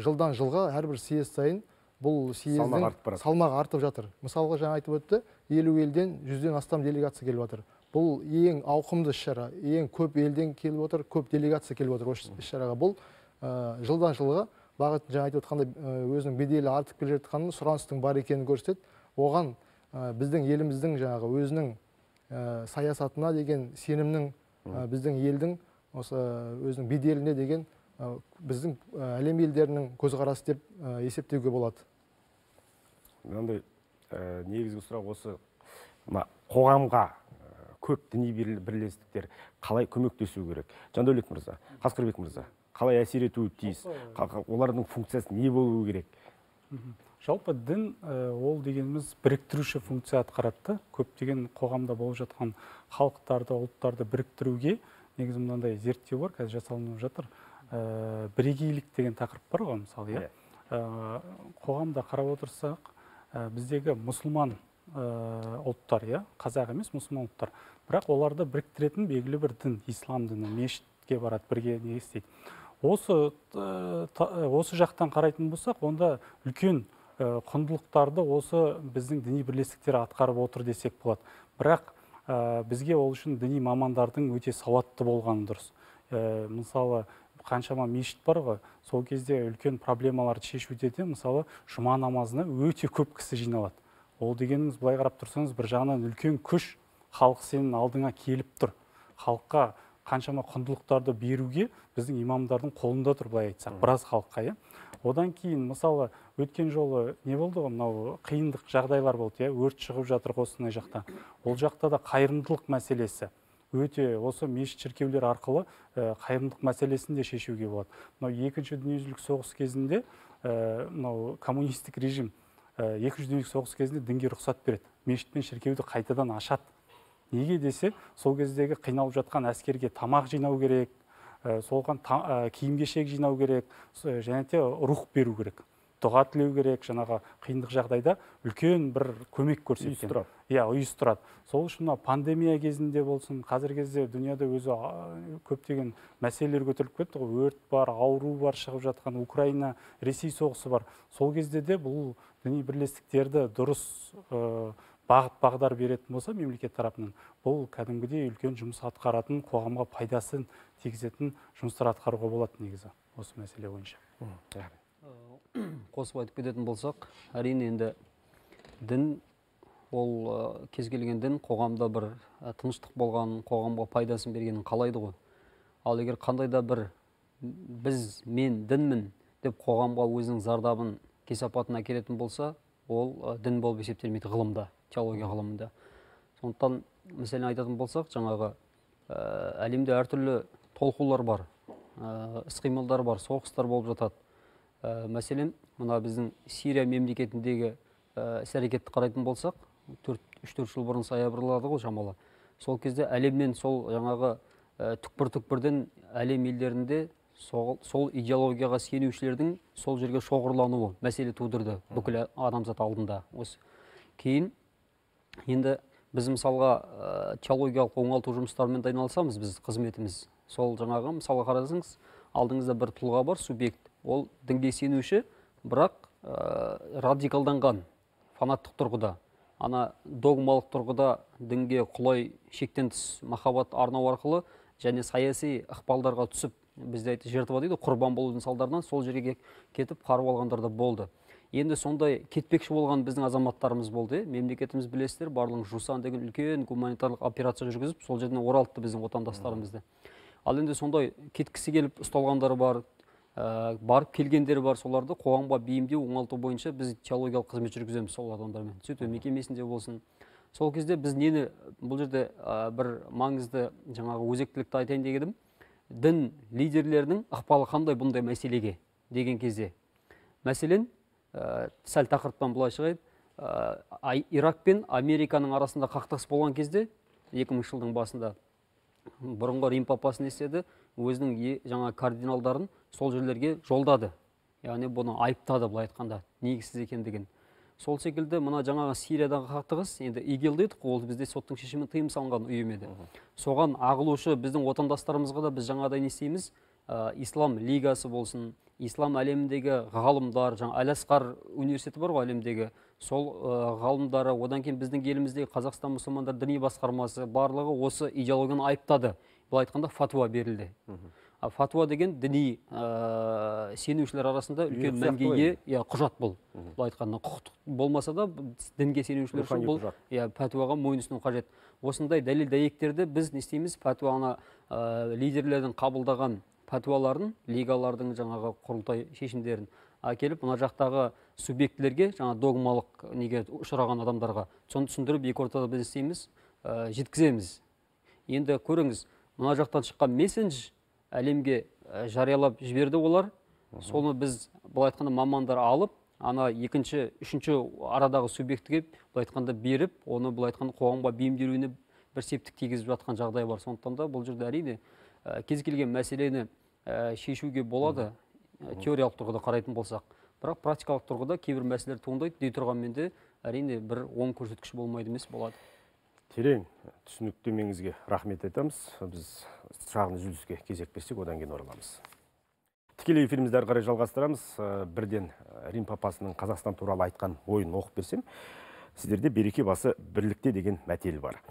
жылдан жылға әрбір съезд сайын бұл съездің салмағы артып жатыр. Мысалға жаңа айтып өтті, 50 елден 100-ден астам делегация келіп отыр. Бұл ең ауқымды іс-шара, ең көп елден келіп отыр, көп делегация келіп отыр осы іс-шараға. Бұл жылдан жылға бағыт жаңа айтып отқандай өзінің беделі артып келе жатқанын, сұраныстың бар екенін көрсетеді. Оған біздің еліміздің жаңағы өзінің саясатына деген сенімнің, біздің елдің осы өзінің беделіне деген біздің әлем елдерінің көзқарасы деп есептеуге болады. Мынандай негізгі сұрақ осы қоғамға көп діни бірлестіктер қалай көмектесу керек? Жандәулет мырза, Қасқырбек мырза, қалай әсер етуі тиіс? Олардың функциясы не болуы керек? Жалпы дін ол дегеніміз біріктіруші функция атқарады. Көптеген қоғамда болып жатқан халықтарды, ұлттарды біріктіруге негізі мынандай зерттеу бар, қазір жасалынып жатыр. Бірегейлік деген тақырып бар ғой, мысалы, қоғамда қарап отырсақ, біздегі мұсылман ұлттар, қазақ емес, мұсылман ұлттар. Бірақ оларды біріктіретін белгілі бір дін, ислам діні, мешітке барады, бірге не істейді. Осы жақтан қарайтын болсақ, онда үлкен құндылықтарды осы біздің діни бірлестіктер атқарып отыр десек болады. Бірақ бізге ол үшін діни мамандардың өте сауатты болғаны дұрыс. Мысалы, қаншама мешіт бар ғой, сол кезде үлкен проблемаларды шешуде де, мысалы, жұма намазына өте көп кісі жиналады. Ол дегеніңіз, былай қарап тұрсаңыз, бір жағынан үлкен күш халық сенің алдыңа келіп тұр. Халыққа қаншама құндылықтарды беруге біздің имамдардың қолында тұр, былай айтсақ, біраз халыққа. Одан кейін, мысалы, өткен жолы не болды ғой, мынау қиындық жағдайлар болды, өрт шығып жатыр осындай жақта. Ол жақта да қайырымдылық мәселесі өте осы мешіт шіркеулер арқылы қайырымдылық мәселесін де шешуге болады. Мынау екінші дүниежүзілік соғыс кезінде, мынау коммунистік режим екінші дүниежүзілік соғыс кезінде дінге рұқсат береді. Мешіт пен шіркеуді қайтадан ашады. Неге десе, сол кездегі қиналып жатқан әскерге тамақ жинау керек, солған киім-кешек жинау керек, және де рух беру керек. Дұға тілеу керек, жаңағы қиындық жағдайда үлкен бір көмек көрсеткен. Ұйыстырады. Сол үшін пандемия кезінде болсын, қазір кезде дүнияда өзі көптеген мәселелер көтеріліп кетті ғой, өрт бар, ауру бар, шығып жатқан Украина, Ресей соғысы бар. Сол кезде де бұл діни бірлестіктерді дұрыс бағыт-бағдар беретін болса мемлекет тарапынан, бұл кәдімгідей үлкен жұмыс атқаратын, қоғамға пайдасын тигізетін жұмыстар атқаруға болады негізі осы мәселе бойынша. Қосып айтып кететін болсақ, әрине енді дін ол кез келген дін қоғамда бір тыныштық болған, қоғамға пайдасын бергенін қалайды ғой. Ал егер қандай да бір мен дінмін деп қоғамға өзінің зардабын, кесапатын әкелетін болса, ол дін болып есептелмейді ғылымда, теология ғылымында. Сондықтан мәселен айтатын болсақ, жаңағы әлемде әртүрлі толқулар бар, іс-қимылдар бар, соғыстар болып жатады. Мәселен, мына біздің Сирия мемлекетіндегі іс-әрекетті қарайтын болсақ, 3-4 жыл бұрын саябырлады ғой шамалы. Сол кезде әлемнен сол жаңағы түкпір-түкпірден әлем елдерінде сол идеологияға сенушілердің сол жерге шоғырлануы мәселе тудырды бүкіл адамзат алдында. Кейін енді біз мысалға теологиялық оңалту жұмыстарымен айналысамыз, біз қызметіміз. Сол жаңағы мысалға қарасаңыз, алдыңызда бір тұлға бар, субъект. Ол дінге сенуші, бірақ радикалданған, фанаттық тұрғыда. Ана догмалық тұрғыда дінге құлай шектен тыс махаббат арнау арқылы және саяси ықпалдарға түсіп, бізде жертва дейді, құрбан болудың салдарынан сол жерге кетіп қарып алғандар да болды. Енді сондай кетпекші болған біздің азаматтарымыз болды. Мемлекетіміз білесіздер, барлығын Жусан деген үлкен гуманитарлық операция жүргізіп, сол жерден оралтты біздің отандастарымызды. Ал енді сондай кеткісі келіп ұсталғандары бар, барып келгендері бар, соларды қоғамға бейімдеу, оңалту бойынша біз теологиялық қызмет жүргіземіз сол адамдармен. Түзету мекемесінде болсын. Сол кезде біз нені, бұл жерде бір маңызды жаңағы өзектілікті айтайын дегенім, дін лидерлерінің ықпалы қандай бұндай мәселеге деген кезде. Мәселен, сәл тақырыптан былай шығайын, Ирак пен Американың арасында қақтығыс болған кезде 2000 жылдың басында бұрынғы Рим папасы не істеді, өзінің жаңа кардиналдарын сол жерлерге жолдады. Яғни бұны айыптады, былай айтқанда, негізсіз екендігін. Сол секілді мына жаңағы Сириядағы қақтығыс, енді ИГИЛ дедік, ол бізде соттың шешімі тыйым салынған ұйым еді. Соған ағылушы біздің отандастарымызға да біз жаңағыдай не істейміз, Ислам лигасы болсын, ислам әлеміндегі ғалымдар, жаңа Әл-Асқар университеті бар ғой әлемдегі, сол ғалымдары, одан кейін біздің еліміздегі Қазақстан мұсылмандар діни басқармасы барлығы осы идеологияны айыптады. Бұл айтқанда фатуа берілді. Фатуа деген діни сенушілер арасында үлкен мәнге ие құжат бұл. Бұл айтқанда құқықтық болмаса да дінге сенушілер үшін бұл фатуаға мойынсыну қажет. Осындай дәлел дәйектерді біз не істейміз? Фатуаны лидерлердің қабылдаған фатуаларын, лигалардың жаңағы құрылтай шешімдерін әкеліп, мына жақтағы субъектілерге, жаңа догмалық неге ұшыраған адамдарға соны түсіндіріп, екі ортада біз істейміз, жеткіземіз. Енді көріңіз, мына жақтан шыққан месседж әлемге жариялап жіберді олар. Соны біз былай айтқанда мамандар алып, ана екінші, үшінші арадағы субъектіге былай айтқанда беріп, оны былай айтқанда қоғамға бейімделуіне бір септік тигізіп жатқан жағдай бар. Сондықтан да бұл жерде әрине кез келген мәселені шешуге болады, теориялық тұрғыда қарайтын болсақ. Бірақ практикалық тұрғыда кейбір мәселелер туындайды, дей тұрғанмен де әрине бір оң көрсеткіш болмайды емес болады. Терең түсініктемеңізге рахмет айтамыз. Біз шағын үзіліске кезек берсек, одан кейін ораламыз. Тікелей эфирімізді әрі қарай жалғастырамыз. Бірден Рим папасының Қазақстан туралы айтқан ойын оқып берсем, сіздерде береке басы бірлікте деген мәтел бар.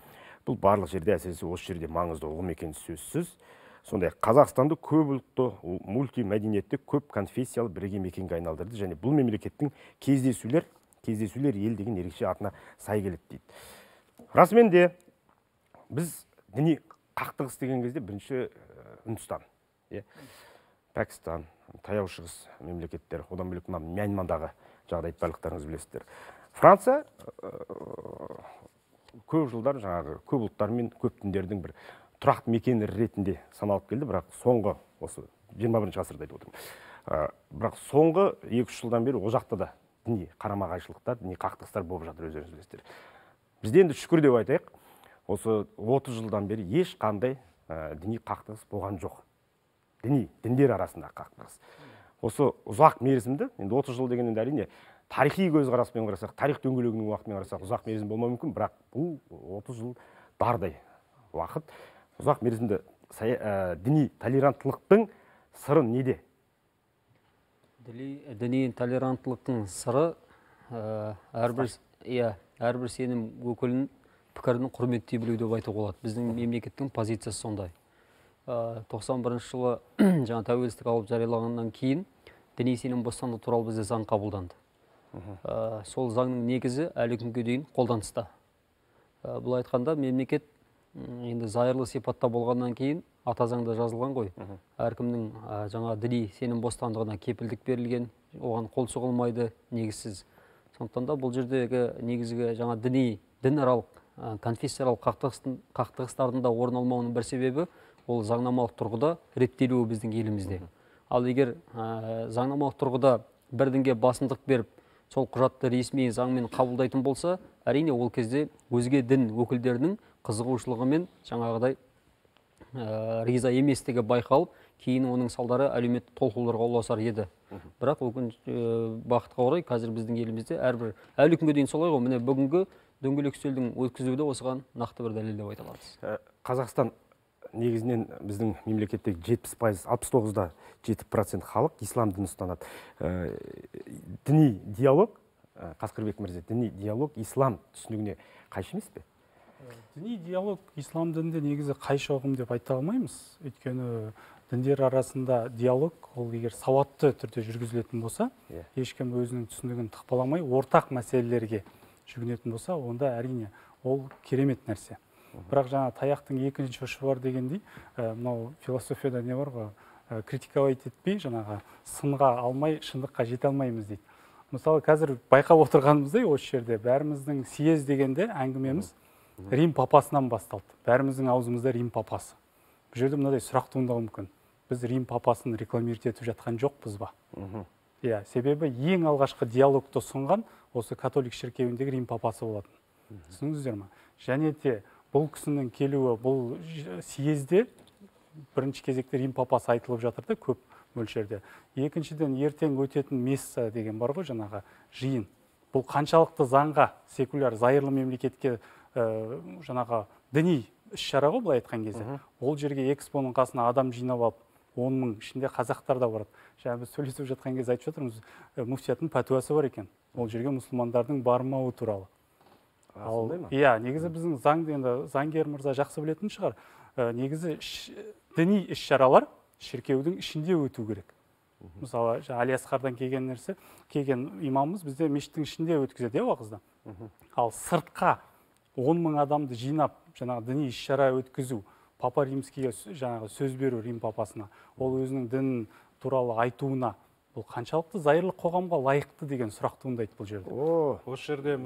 Бұл барлық жерде, әсіресе осы жерде маңызды ұғым екені сөзсіз. Сондай Қазақстанды көп ұлтты, мультимәдениетті, көп конфессиялы бірге мекенге айналдырды, және бұл мемлекеттің кездесулер ел деген ерекше атына сай келеді дейді. Расымен де біз діни қақтығыс деген кезде бірінші Үндістан, Пәкістан, Таяу шығыс мемлекеттер, одан бөлек Мьянмадағы жағдайды барлықтарыңыз білесіздер. Франция көп жылдар жаңағы көп ұлттар мен көп діндердің бір тұрақты мекені ретінде саналып келді, бірақ соңғы осы 21 ғасырда айтып отырмын. Бірақ соңғы 2-3 жылдан бері ол жақта да діни қарама-қайшылықтар, діни қақтығыстар болып жатыр, өздеріңіз білесіздер. Бізде енді шүкір деп айтайық, осы 30 жылдан бері ешқандай діни қақтығыс болған жоқ. Діндер арасында қақтығыс. Осы ұзақ мерзімді, енді 30 жыл деген енді әрине тарихи көзқараспен қарасақ, тарих дөңгелегінің уақытымен қарасақ ұзақ мерзім болмауы мүмкін, бірақ бұл 30 жыл дардай уақыт. Ұзақ мерзімді діни толеранттылықтың сыры неде? Діни толеранттылықтың сыры әрбір сенім өкілінің пікірінің құрметтей білу деп айтуға болады. Біздің мемлекеттің позициясы сондай. 91 жылы жаңа тәуелсіздік алып жарияланғаннан кейін діни сенім бостандығы туралы бізде заң қабылданды. Сол заңның негізі әлі күнге дейін қолданыста. Бұл айтқанда мемлекет енді зайырлы сипатта болғаннан кейін ата заңда жазылған ғой. Әркімнің жаңа діни сенім бостандығына кепілдік берілген, оған қол соғылмайды негізсіз. Сондықтан да бұл жердегі негізгі жаңа дінаралық конфессияаралық қақтығыстардың да орын алмауының бір себебі ол заңнамалық тұрғыда реттелуі біздің елімізде. Ал егер заңнамалық тұрғыда бір дінге басымдық беріп, сол құжатты ресми заңмен қабылдайтын болса, әрине ол кезде өзге дін өкілдерінің қызығушылығы мен жаңағыдай риза еместігі байқалып, кейін оның салдары әлеуметтік толқуларға ұласар еді. Бірақ бақытқа орай қазір біздің елімізде әрбір әлі күнге дейін солай ғой. Міне бүгінгі дөңгелек үстелдің өткізуі де осыған нақты бір дәлел деп айта аламыз. Қазақстан негізінен біздің мемлекеттегі 70%, 69-да 7% халық ислам дінін ұстанады. Діни диалог, Қасқырбек мырза, діни диалог ислам түсінігіне қайшы емес пе? Діни диалог ислам дінінде негізі қайшы ұғым деп айта алмаймыз. Өйткені діндер арасында диалог ол егер сауатты түрде жүргізілетін болса, ешкім өзінің түсінігін тықпаламай ортақ мәселелерге жүгінетін болса, онда әрине ол керемет нәрсе. Бірақ жаңа таяқтың екінші ұшы бар дегендей, мынау философияда не бар ғой, критиковать етпей, жаңағы сынға алмай, шындыққа жете алмаймыз дейді. Мысалы, қазір байқап отырғанымыздай, осы жерде бәріміздің съезд дегенде әңгімеміз Рим папасынан басталды. Бәріміздің аузымызда Рим папасы. Бұл жерде мынадай сұрақ туындауы мүмкін. Біз Рим папасын рекламировать етіп жатқан жоқпыз ба? Иә, себебі ең алғашқы диалогты ұсынған осы католик шіркеуіндегі Рим папасы болатын. Түсініңіздер ме? Және де бұл кісінің келуі, бұл съезде бірінші кезекте Рим папасы айтылып жатыр да көп мөлшерде. Екіншіден ертең өтетін месса деген бар ғой, жаңағы жиын. Бұл қаншалықты заңға, секуляр, зайырлы мемлекетке жаңағы діни іс-шара ғой, былай айтқан кезде. Ол жерге экспоның қасына адам жинап алып, 10 мың ішінде қазақтар да барады. Жаңа біз сөйлесіп жатқан кезде айтып жатырмыз, муфтияттың пәтуасы бар екен. Ол жерге мұсылмандардың бармауы туралы. Иә, негізі біздің заңды, енді заңгер мырза жақсы білетін шығар. Негізі діни іс-шаралар шіркеудің ішінде өту керек. Мысалы, Алиасқардан келген нәрсе, келген имамымыз бізде мешіттің ішінде өткізеді, уағызда. Ал сыртқа 10 мың адамды жинап, жаңағы діни іс-шара өткізу, Папа Римскийге жаңағы сөз беру Рим папасына, ол өзінің дінін туралы айтуына, бұл қаншалықты зайырлы қоғамға лайықты деген сұрақ туындайды бұл жерде. Осы жерде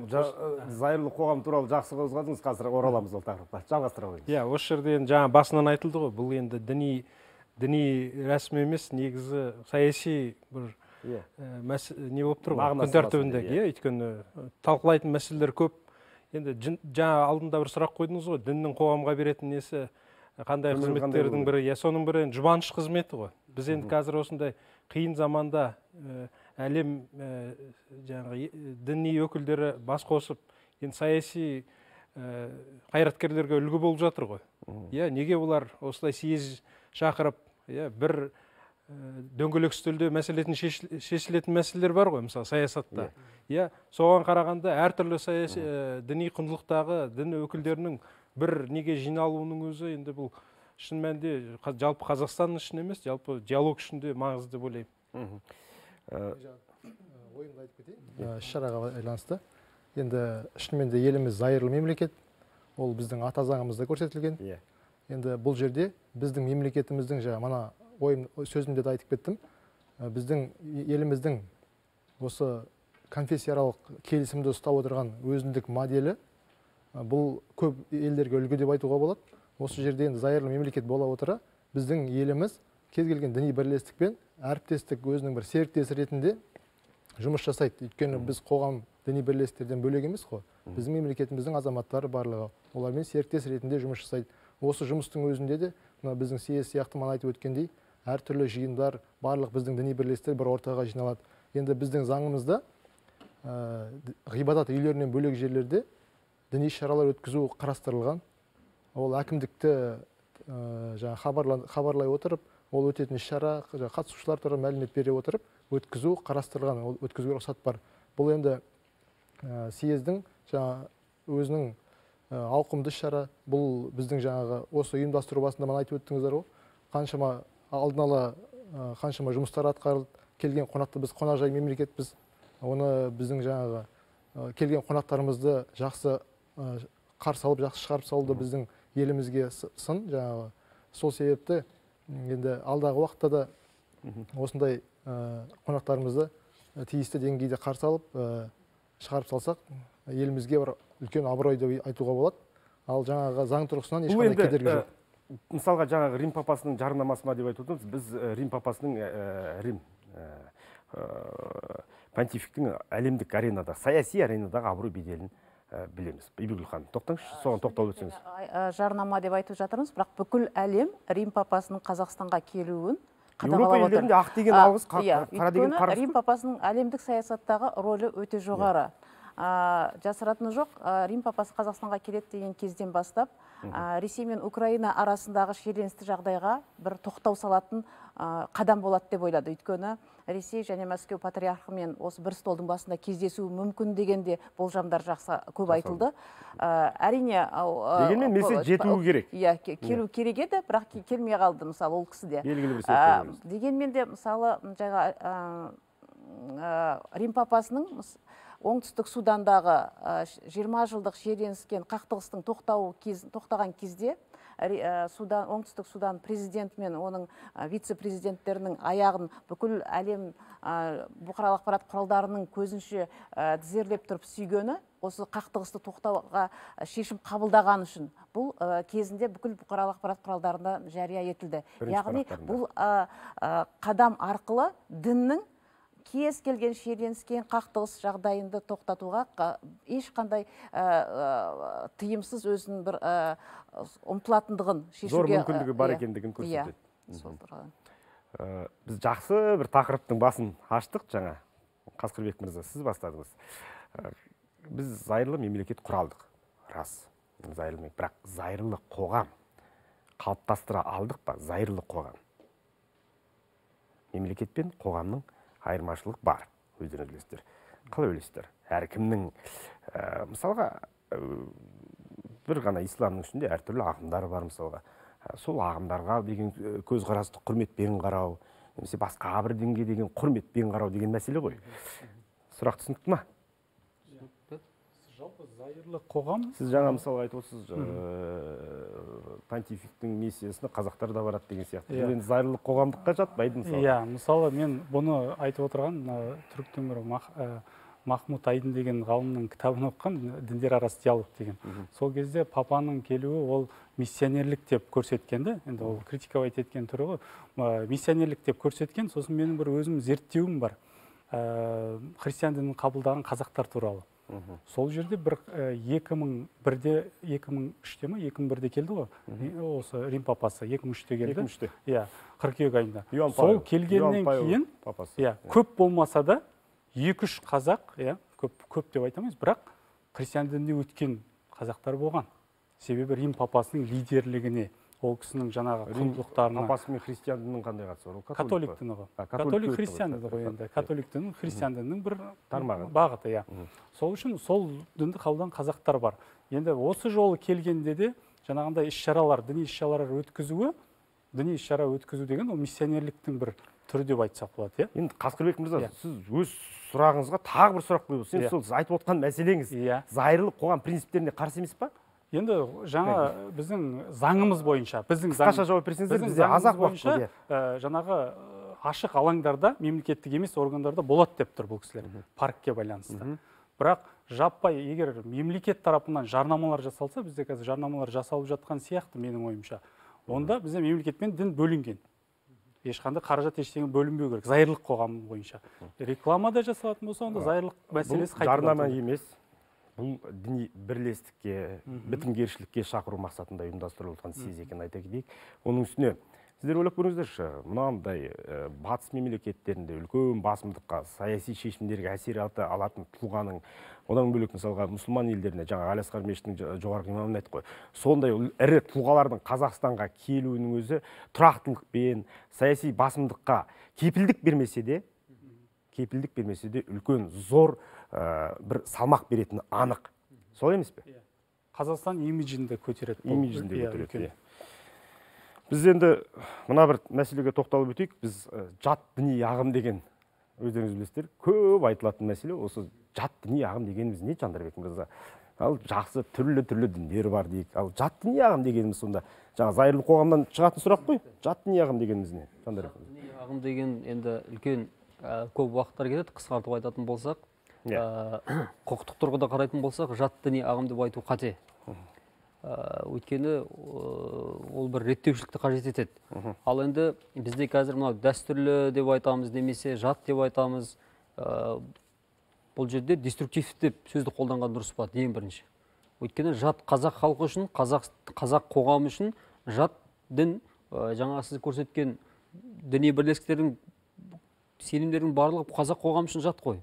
зайырлы қоғам туралы жақсы қозғадыңыз, қазір ораламыз ол тақырыпқа. Жалғастыра қойыңыз. Иә, осы жерде жаңа басынан айтылды ғой, бұл енді діни рәсім емес, негізі саяси бір не болып тұр ғой, күн тәртібіндегі, өйткені талқылайтын мәселелер көп. Енді жаңа алдында бір сұрақ қойдыңыз ғой, діннің қоғамға беретін несі қандай қызметтердің бірі, соның бірі жұбаныш қызметі ғой. Біз енді қазір осындай қиын заманда әлем жаңағы діни өкілдері бас қосып, енді саяси қайраткерлерге үлгі болып жатыр ғой. Неге олар осылай съезд шақырып, бір дөңгелек үстелде шешілетін мәселелер бар ғой, мысалы саясатта. Соған қарағанда әртүрлі саяси діни құндылықтағы дін өкілдерінің бір неге жиналуының өзі енді бұл шын мәнінде жалпы Қазақстан үшін емес, жалпы диалог үшін де маңызды деп ойлаймын. Ойымды айтып кетейін, іс-шараға байланысты. Енді шынымен де еліміз зайырлы мемлекет, ол біздің ата заңымызда көрсетілген. Енді бұл жерде біздің мемлекетіміздің мана сөзімде де айтып кеттім, біздің еліміздің осы конфессияаралық келісімді ұстап отырған өзіндік моделі бұл көп елдерге үлгі деп айтуға болады. Осы жерде енді зайырлы мемлекет бола отыра, біздің еліміз кез келген діни бірлестік пен әріптестік өзінің бір серіктесі ретінде жұмыс жасайды. Өйткені біз қоғам діни бірлестіктерден бөлек емес қой. Біздің мемлекетіміздің азаматтары барлығы олармен серіктес ретінде жұмыс жасайды. Осы жұмыстың өзінде де біздің съезд сияқты мана айтып өткендей әртүрлі жиындар, барлық біздің діни бірлестіктер бір ортаға жиналады. Енді біздің заңымызда ғибадат үйлерінен бөлек жерлерде діни шаралар өткізу қарастырылған. Ол әкімдікті хабарлай отырып, ол өтетін іс-шара, қатысушылар туралы мәлімет бере отырып, өткізу қарастырылған, ол өткізуге рұқсат бар. Бұл енді съездің өзінің ауқымды іс-шара, бұл біздің жаңағы осы ұйымдастыру басында мана айтып өттіңіздер ғой, қаншама алдын ала қаншама жұмыстар атқарылды, келген қонақты біз қонақжай мемлекетпіз. оны біздің жаңағы келген қонақтарымызды жақсы қарсы алып, жақсы шығарып салуды біздің елімізге сын жаңағы. Сол себепті енді алдағы уақытта да осындай қонақтарымызды тиісті деңгейде қарсы алып, шығарып салсақ, елімізге бір үлкен абырой деп айтуға болады. Ал жаңағы заң тұрғысынан ешқандай кедергі жоқ. Мысалға жаңағы Рим папасының жарнамасы ма деп айтып отырмыз. Біз Рим папасының понтификтің әлемдік аренада, саяси аренадағы абырой беделін білеміз. Бибігүл ханым, тоқтаңызшы, соған тоқталып өтсеңіз. Жарнама деп айтып жатырмыз, бірақ бүкіл әлем Рим папасының Қазақстанға келуін Еуропа елдерінде ақ деген алғыс, қара деген қарғыс. Рим папасының әлемдік саясаттағы рөлі өте жоғары. Жасыратыны жоқ, Рим папасы Қазақстанға келеді деген кезден бастап, Ресей мен Украина арасындағы шиеленісті жағдайға бір тоқтау салатын қадам болады деп ойлады. Өйткені Ресей және Мәскеу патриархымен осы бір столдың басында кездесуі мүмкін дегенде болжамдар жақсы көп айтылды. Әрине, дегенмен месседж жетуі керек. Иә, келу керек еді, бірақ келмей қалды, мысалы, ол кісі де. Белгілі бір себептер. Дегенмен де, мысалы, Рим папасының оңтүстік Судандағы 20 жылдық шиеленіскен қақтығыстың тоқтаған кезде оңтүстік Судан президенті мен оның вице-президенттерінің аяғын бүкіл әлем бұқаралық ақпарат құралдарының көзінше тізерлеп тұрып сүйгені осы қақтығысты тоқтауға шешім қабылдаған үшін. Бұл кезінде бүкіл бұқаралық ақпарат құралдарында жария етілді. Яғни бұл қадам арқылы діннің кез келген шиеленіскен қақтығыс жағдайында тоқтатуға ешқандай тыйымсыз өзінің бір ұмтылатындығын шешуге. Зор мүмкіндігі бар екендігін көрсетеді. Біз жақсы бір тақырыптың басын аштық жаңа. Қасқырбек мырза, сіз бастадыңыз. Біз зайырлы мемлекет құралдық. Рас, зайырлы, бірақ зайырлы қоғам қалыптастыра алдық па? Зайырлы қоғам. Мемлекет пен қоғамның айырмашылық бар, өздеріңіз білесіздер. Қалай ойлайсыздар? Әркімнің, мысалға, бір ғана исламның ішінде әртүрлі ағымдар бар, мысалға. Сол ағымдарға деген көзқарасты құрметпен қарау, немесе басқа бір дінге деген құрметпен қарау деген мәселе ғой. Сұрақ түсінікті ма? Жалпы зайырлы қоғам. Сіз жаңа мысалға айтып отырсыз, понтификтің миссиясына қазақтар да барады деген сияқты. Бұл енді зайырлы қоғамдыққа жатпайды мысалы. Иә, мысалы мен бұны айтып отырған түріктің бір Махмуд Айдын деген ғалымның кітабын оқыған, діндер арасы диалог деген. Сол кезде папаның келуі ол миссионерлік деп көрсеткенді, енді ол критиковать еткен түрі ғой, миссионерлік деп көрсеткен. Сосын менің бір өзім зерттеуім бар, христиан дінін қабылдаған қазақтар туралы. Сол жерде бір 2001-де, 2003-те ме, 2001-де келді ғой, осы Рим папасы 2003-те келді. 2003-те. Иә, қыркүйек айында. Сол келгеннен кейін, көп болмаса да 2-3 қазақ, көп деп айтамыз, бірақ христиан дініне өткен қазақтар болған. Себебі Рим папасының лидерлігіне, ол кісінің жаңағы құндылықтарына. Папасы мен христиан дінінің қандай қатысы бар? Католик діні ғой. Католик христиан діні ғой енді. Католик дінінің христиан дінінің бір бағыты, иә. Сол үшін сол дінді қабылдаған қазақтар бар. Енді осы жолы келгенде де жаңағындай іс-шаралар, діни іс-шаралар өткізуі, діни іс-шара өткізу деген ол миссионерліктің бір түрі деп айтсақ болады, иә. Енді Қасқырбек мырза, сіз өз сұрағыңызға тағы бір сұрақ қойып отырсыз. Сол айтып отқан мәселеңіз зайырлы қоғам принциптеріне қарсы емес па? Енді жаңа біздің заңымыз бойынша, қысқаша жауап берсеңіздер, бізде аз-ақ уақыт болды. Жаңағы ашық алаңдарда, мемлекеттік емес органдарда болады деп тұр бұл кісілер, паркке байланысты. Бірақ жаппай, егер мемлекет тарапынан жарнамалар жасалса, бізде қазір жарнамалар жасалып жатқан сияқты менің ойымша, онда бізде мемлекетпен дін бөлінген. Ешқандай қаражат ештеңе бөлінбеу керек, зайырлық қоғам бойынша. Рекламада жасалатын болса, онда зайырлық мәселесі қайтып. Жарнама емес. Бұл діни бірлестікке, бітімгершілікке шақыру мақсатында ұйымдастырылған съез екенін айта кетейік. Оның үстіне сіздер ойлап көріңіздерші, мынандай батыс мемлекеттерінде үлкен басымдыққа, саяси шешімдерге әсер алатын тұлғаның, одан бөлек мысалға мұсылман елдеріне, жаңа Алиасқар мешітінің жоғарғы имамын айтып қой, сондай ірі тұлғалардың Қазақстанға келуінің өзі тұрақтылықпен, саяси басымдыққа кепілдік бермесе де үлкен зор бір салмақ беретіні анық. Солай емес пе? Қазақстан имиджінде көтереді. Имиджінде көтереді. Біз енді мына бір мәселеге тоқталып өтейік. Біз жат діни ағым деген өздеріңіз білесіздер, көп айтылатын мәселе осы жат діни ағым дегеніміз не, Жандарбек мырза? Ал жақсы түрлі діндер бар дейік. Ал жат діни ағым дегеніміз сонда жаңа зайырлы қоғамнан шығатын сұрақ қой. Жат діни ағым дегеніміз не, Жандарбек мырза? Діни ағым деген енді үлкен көп уақыттар кетеді. Қысқартып айтатын болсақ, құқықтық тұрғыда қарайтын болсақ, жат діни ағым деп айту қате. Өйткені ол бір реттеушілікті қажет етеді. Ал енді бізде қазір мынау дәстүрлі деп айтамыз, немесе жат деп айтамыз. Бұл жерде деструктив деп сөзді қолданған дұрыс па, ең бірінші. Өйткені жат қазақ халқы үшін, қазақ қоғамы үшін жат дін, жаңа сіз көрсеткен діни бірлестіктердің сенімдердің барлығы қазақ қоғамы үшін жат қой.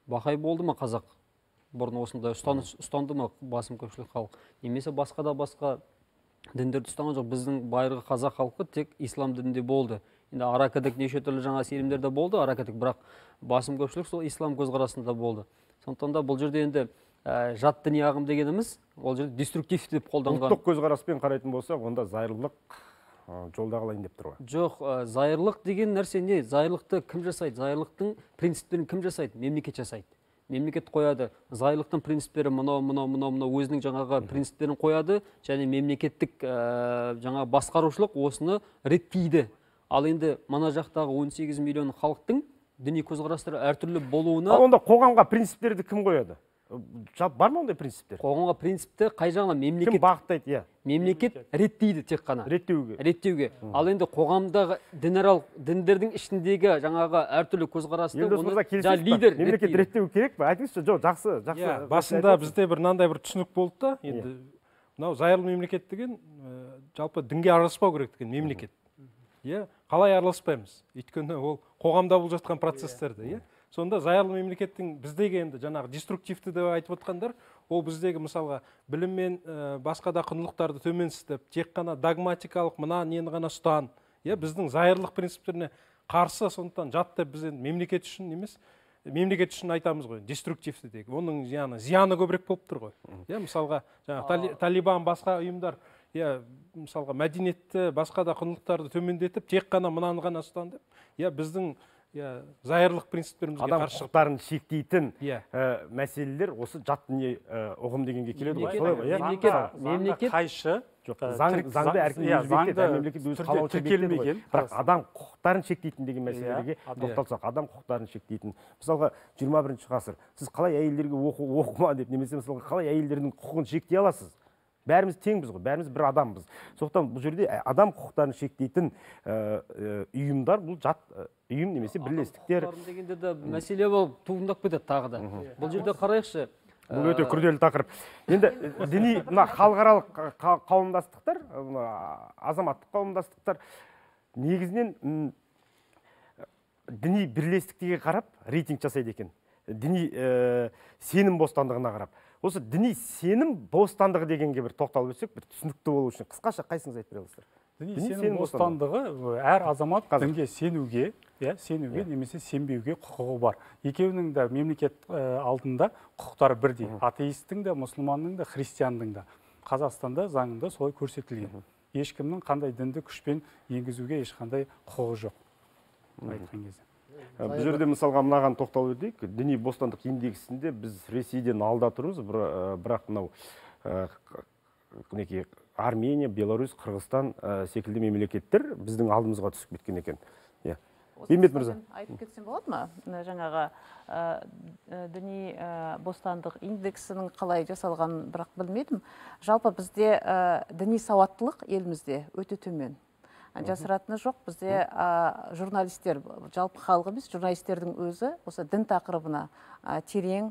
Бақай болды ма қазақ? Бұрын осындай ұстанды ма басым көпшілік халық? Немесе басқа да басқа діндерді ұстанған жоқ. Біздің байырғы қазақ халқы тек ислам дінінде болды. Енді аракідік неше түрлі жаңа сенімдерде болды, аракідік, бірақ басым көпшілік сол ислам көзқарасында болды. Сондықтан да бұл жерде енді жат діни ағым дегеніміз, ол жерде деструктив деп қолданған. Ұлттық көзқараспен қарайтын болсақ, онда зайырлық жолда қалайын деп тұр ғой. Жоқ, зайырлық деген нәрсе не? Зайырлықты кім жасайды? Зайырлықтың принциптерін кім жасайды? Мемлекет жасайды. Мемлекет қояды. Зайырлықтың принциптері мынау өзінің жаңағы принциптерін қояды, және мемлекеттік жаңа басқарушылық осыны реттейді. Ал енді мана жақтағы 18 миллион халықтың діни көзқарастары әртүрлі болуына... Онда қоғамға принциптерді кім қояды? Бар ма ондай принциптер? Қоғамға принципті қай жағынан? Кім бағыттайды? Иә. Мемлекет реттейді тек қана. Реттеуге. Ал енді қоғамдағы діндердің ішіндегі жаңағы әртүрлі көзқарасты лидер мемлекет реттеу керек пе? Айтыңызшы, жоқ, жақсы. Басында бізде бір мынандай бір түсінік болды да, енді мынау зайырлы мемлекет деген жалпы дінге араласпау керек деген мемлекет. Қалай араласпаймыз? Өйткені ол қоғамда болып жатқан процестерді, сонда зайырлы мемлекеттің біздегі енді жаңағы деструктивті деп айтып отқандар, ол біздегі мысалға білім мен басқа да құндылықтарды төменсітіп, тек қана догматикалық мына нені ғана ұстан, біздің зайырлық принциптеріне қарсы, сондықтан жат деп біз енді мемлекет үшін емес, мемлекет үшін айтамыз ғой, деструктивті деп. Оның зияны көбірек болып тұр ғой. Мысалға Талибан, басқа ұйымдар, мысалға мәдениетті, басқа да құндылықтарды төмендетіп, тек қана мынаны ғана ұстан деп, біздің зайырлық принциптерімізге адам қарсы құқықтарын шектейтін мәселелер осы жат діни ұғым дегенге келеді ғой. Мемлекет қайшы, заңды әркім өзі бекітеді, мемлекет өзі қалауынша бекітеді ғой. Бірақ адам құқықтарын шектейтін деген мәселелерге тоқталсақ, адам құқықтарын шектейтін. Мысалға 21 ғасыр, сіз қалай әйелдерге оқыма деп, немесе мысалға қалай әйелдердің құқығын шектей аласыз? Бәріміз теңбіз ғой, бәріміз бір адамбыз. Сондықтан бұл жерде адам құқықтарын шектейтін ұйымдар, бұл жат ұйым немесе бірлестіктер. Дегенде де мәселе болып туындап кетеді тағы да. Бұл жерде қарайықшы. Бұл өте күрделі тақырып. Енді діни халықаралық қауымдастықтар, азаматтық қауымдастықтар негізінен діни бірлестіктерге қарап рейтинг жасайды екен. Діни сенім бостандығына қарап. Осы діни сенім бостандығы дегенге бір тоқталып өтсек, бір түсінікті болу үшін қысқаша қайсыңыз айтып бере аласыздар? Діни сенім бостандығы әр азамат дінге сенуге немесе сенбеуге құқығы бар. Екеуінің де мемлекет алдында құқықтары бірдей. Атеисттің де, мұсылманның да, христиандың да. Қазақстанда заңында солай көрсетілген. Ешкімнің қандай дінді күшпен енгізуге ешқандай құқығы жоқ. Айтқан кезде. Бұл жерде мысалға мынаған тоқталып өтейік. Діни бостандық индексінде біз Ресейден алда тұрмыз, бірақ мынау Армения, Беларусь, Қырғызстан секілді мемлекеттер біздің алдымызға түсіп кеткен екен. Бейімбет мырза. Айтып кетсем болады ма? Жаңағы діни бостандық индексінің қалай жасалғанын бірақ білмедім. Жалпы бізде діни сауаттылық елімізде өте төмен. Жасыратыны жоқ, бізде журналистер, жалпы халық емес, журналистердің өзі осы дін тақырыбына терең,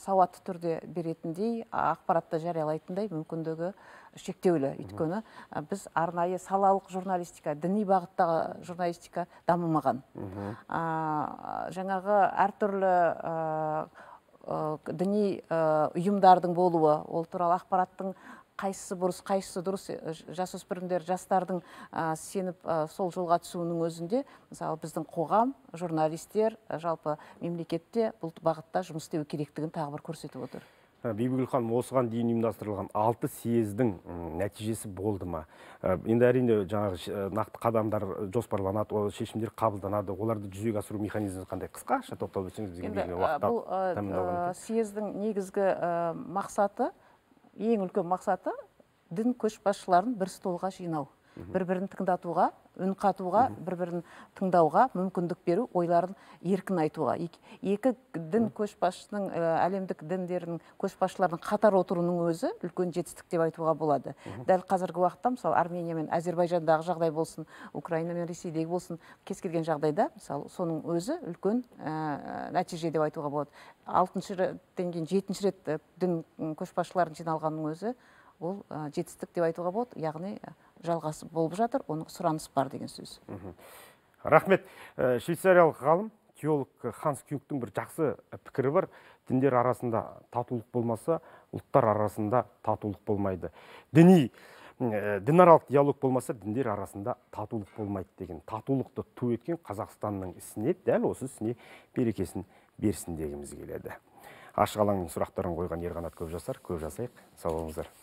сауатты түрде беретіндей, ақпаратты жариялайтындай мүмкіндігі шектеулі. Өйткені біз арнайы салалық журналистика, діни бағыттағы журналистика дамымаған. Жаңағы әртүрлі діни ұйымдардың болуы, ол туралы ақпараттың қайсысы бұрыс, қайсысы дұрыс, жасөспірімдер, жастардың сеніп сол жолға түсуінің өзінде, мысалы біздің қоғам, журналистер, жалпы мемлекетте бұл бағытта жұмыс істеу керектігін тағы бір көрсетіп отыр. Бибігүл ханым, осыған дейін ұйымдастырылған 6 съездің нәтижесі болды ма? Енді әрине жаңағы нақты қадамдар жоспарланады, ол шешімдер қабылданады, оларды жүзеге асыру механизмі қандай? Қысқаша тоқталып өтсеңіз бізге берілген уақытта бұл съездің негізгі мақсаты, ең үлкен мақсаты дін көшбасшыларын бір столға жинау, бір-бірін тыңдатуға, үн қатуға, бір-бірін тыңдауға мүмкіндік беру, ойларын еркін айтуға. Екі дін көшбасшының, әлемдік діндердің көшбасшыларының қатар отыруының өзі үлкен жетістік деп айтуға болады. Дәл қазіргі уақытта, мысалы, Армения мен Әзербайжандағы жағдай болсын, Украина мен Ресейдегі болсын, кез келген жағдайда, мысалы, соның өзі үлкен нәтиже деп айтуға болады. 6-шы реттен кейін 7-ші рет дін көшбасшыларын жиналғанның өзі ол жетістік деп айтуға болады, яғни жалғасы болып жатыр, оның сұраныс бар деген сөз. Рахмет. Швейцариялық ғалым, теолог Ханс Кюнгтің бір жақсы пікірі бар. Діндер арасында татулық болмаса, ұлттар арасында татулық болмайды. Дінаралық диалог болмаса, діндер арасында татулық болмайды деген. Татулықты ту еткен Қазақстанның ісіне, дәл осы ісіне берекесін берсін дегіміз келеді. Ашық алаңның сұрақтарын қойған Ерқанат Көпжасар, көп жасайық. Сау болыңыздар.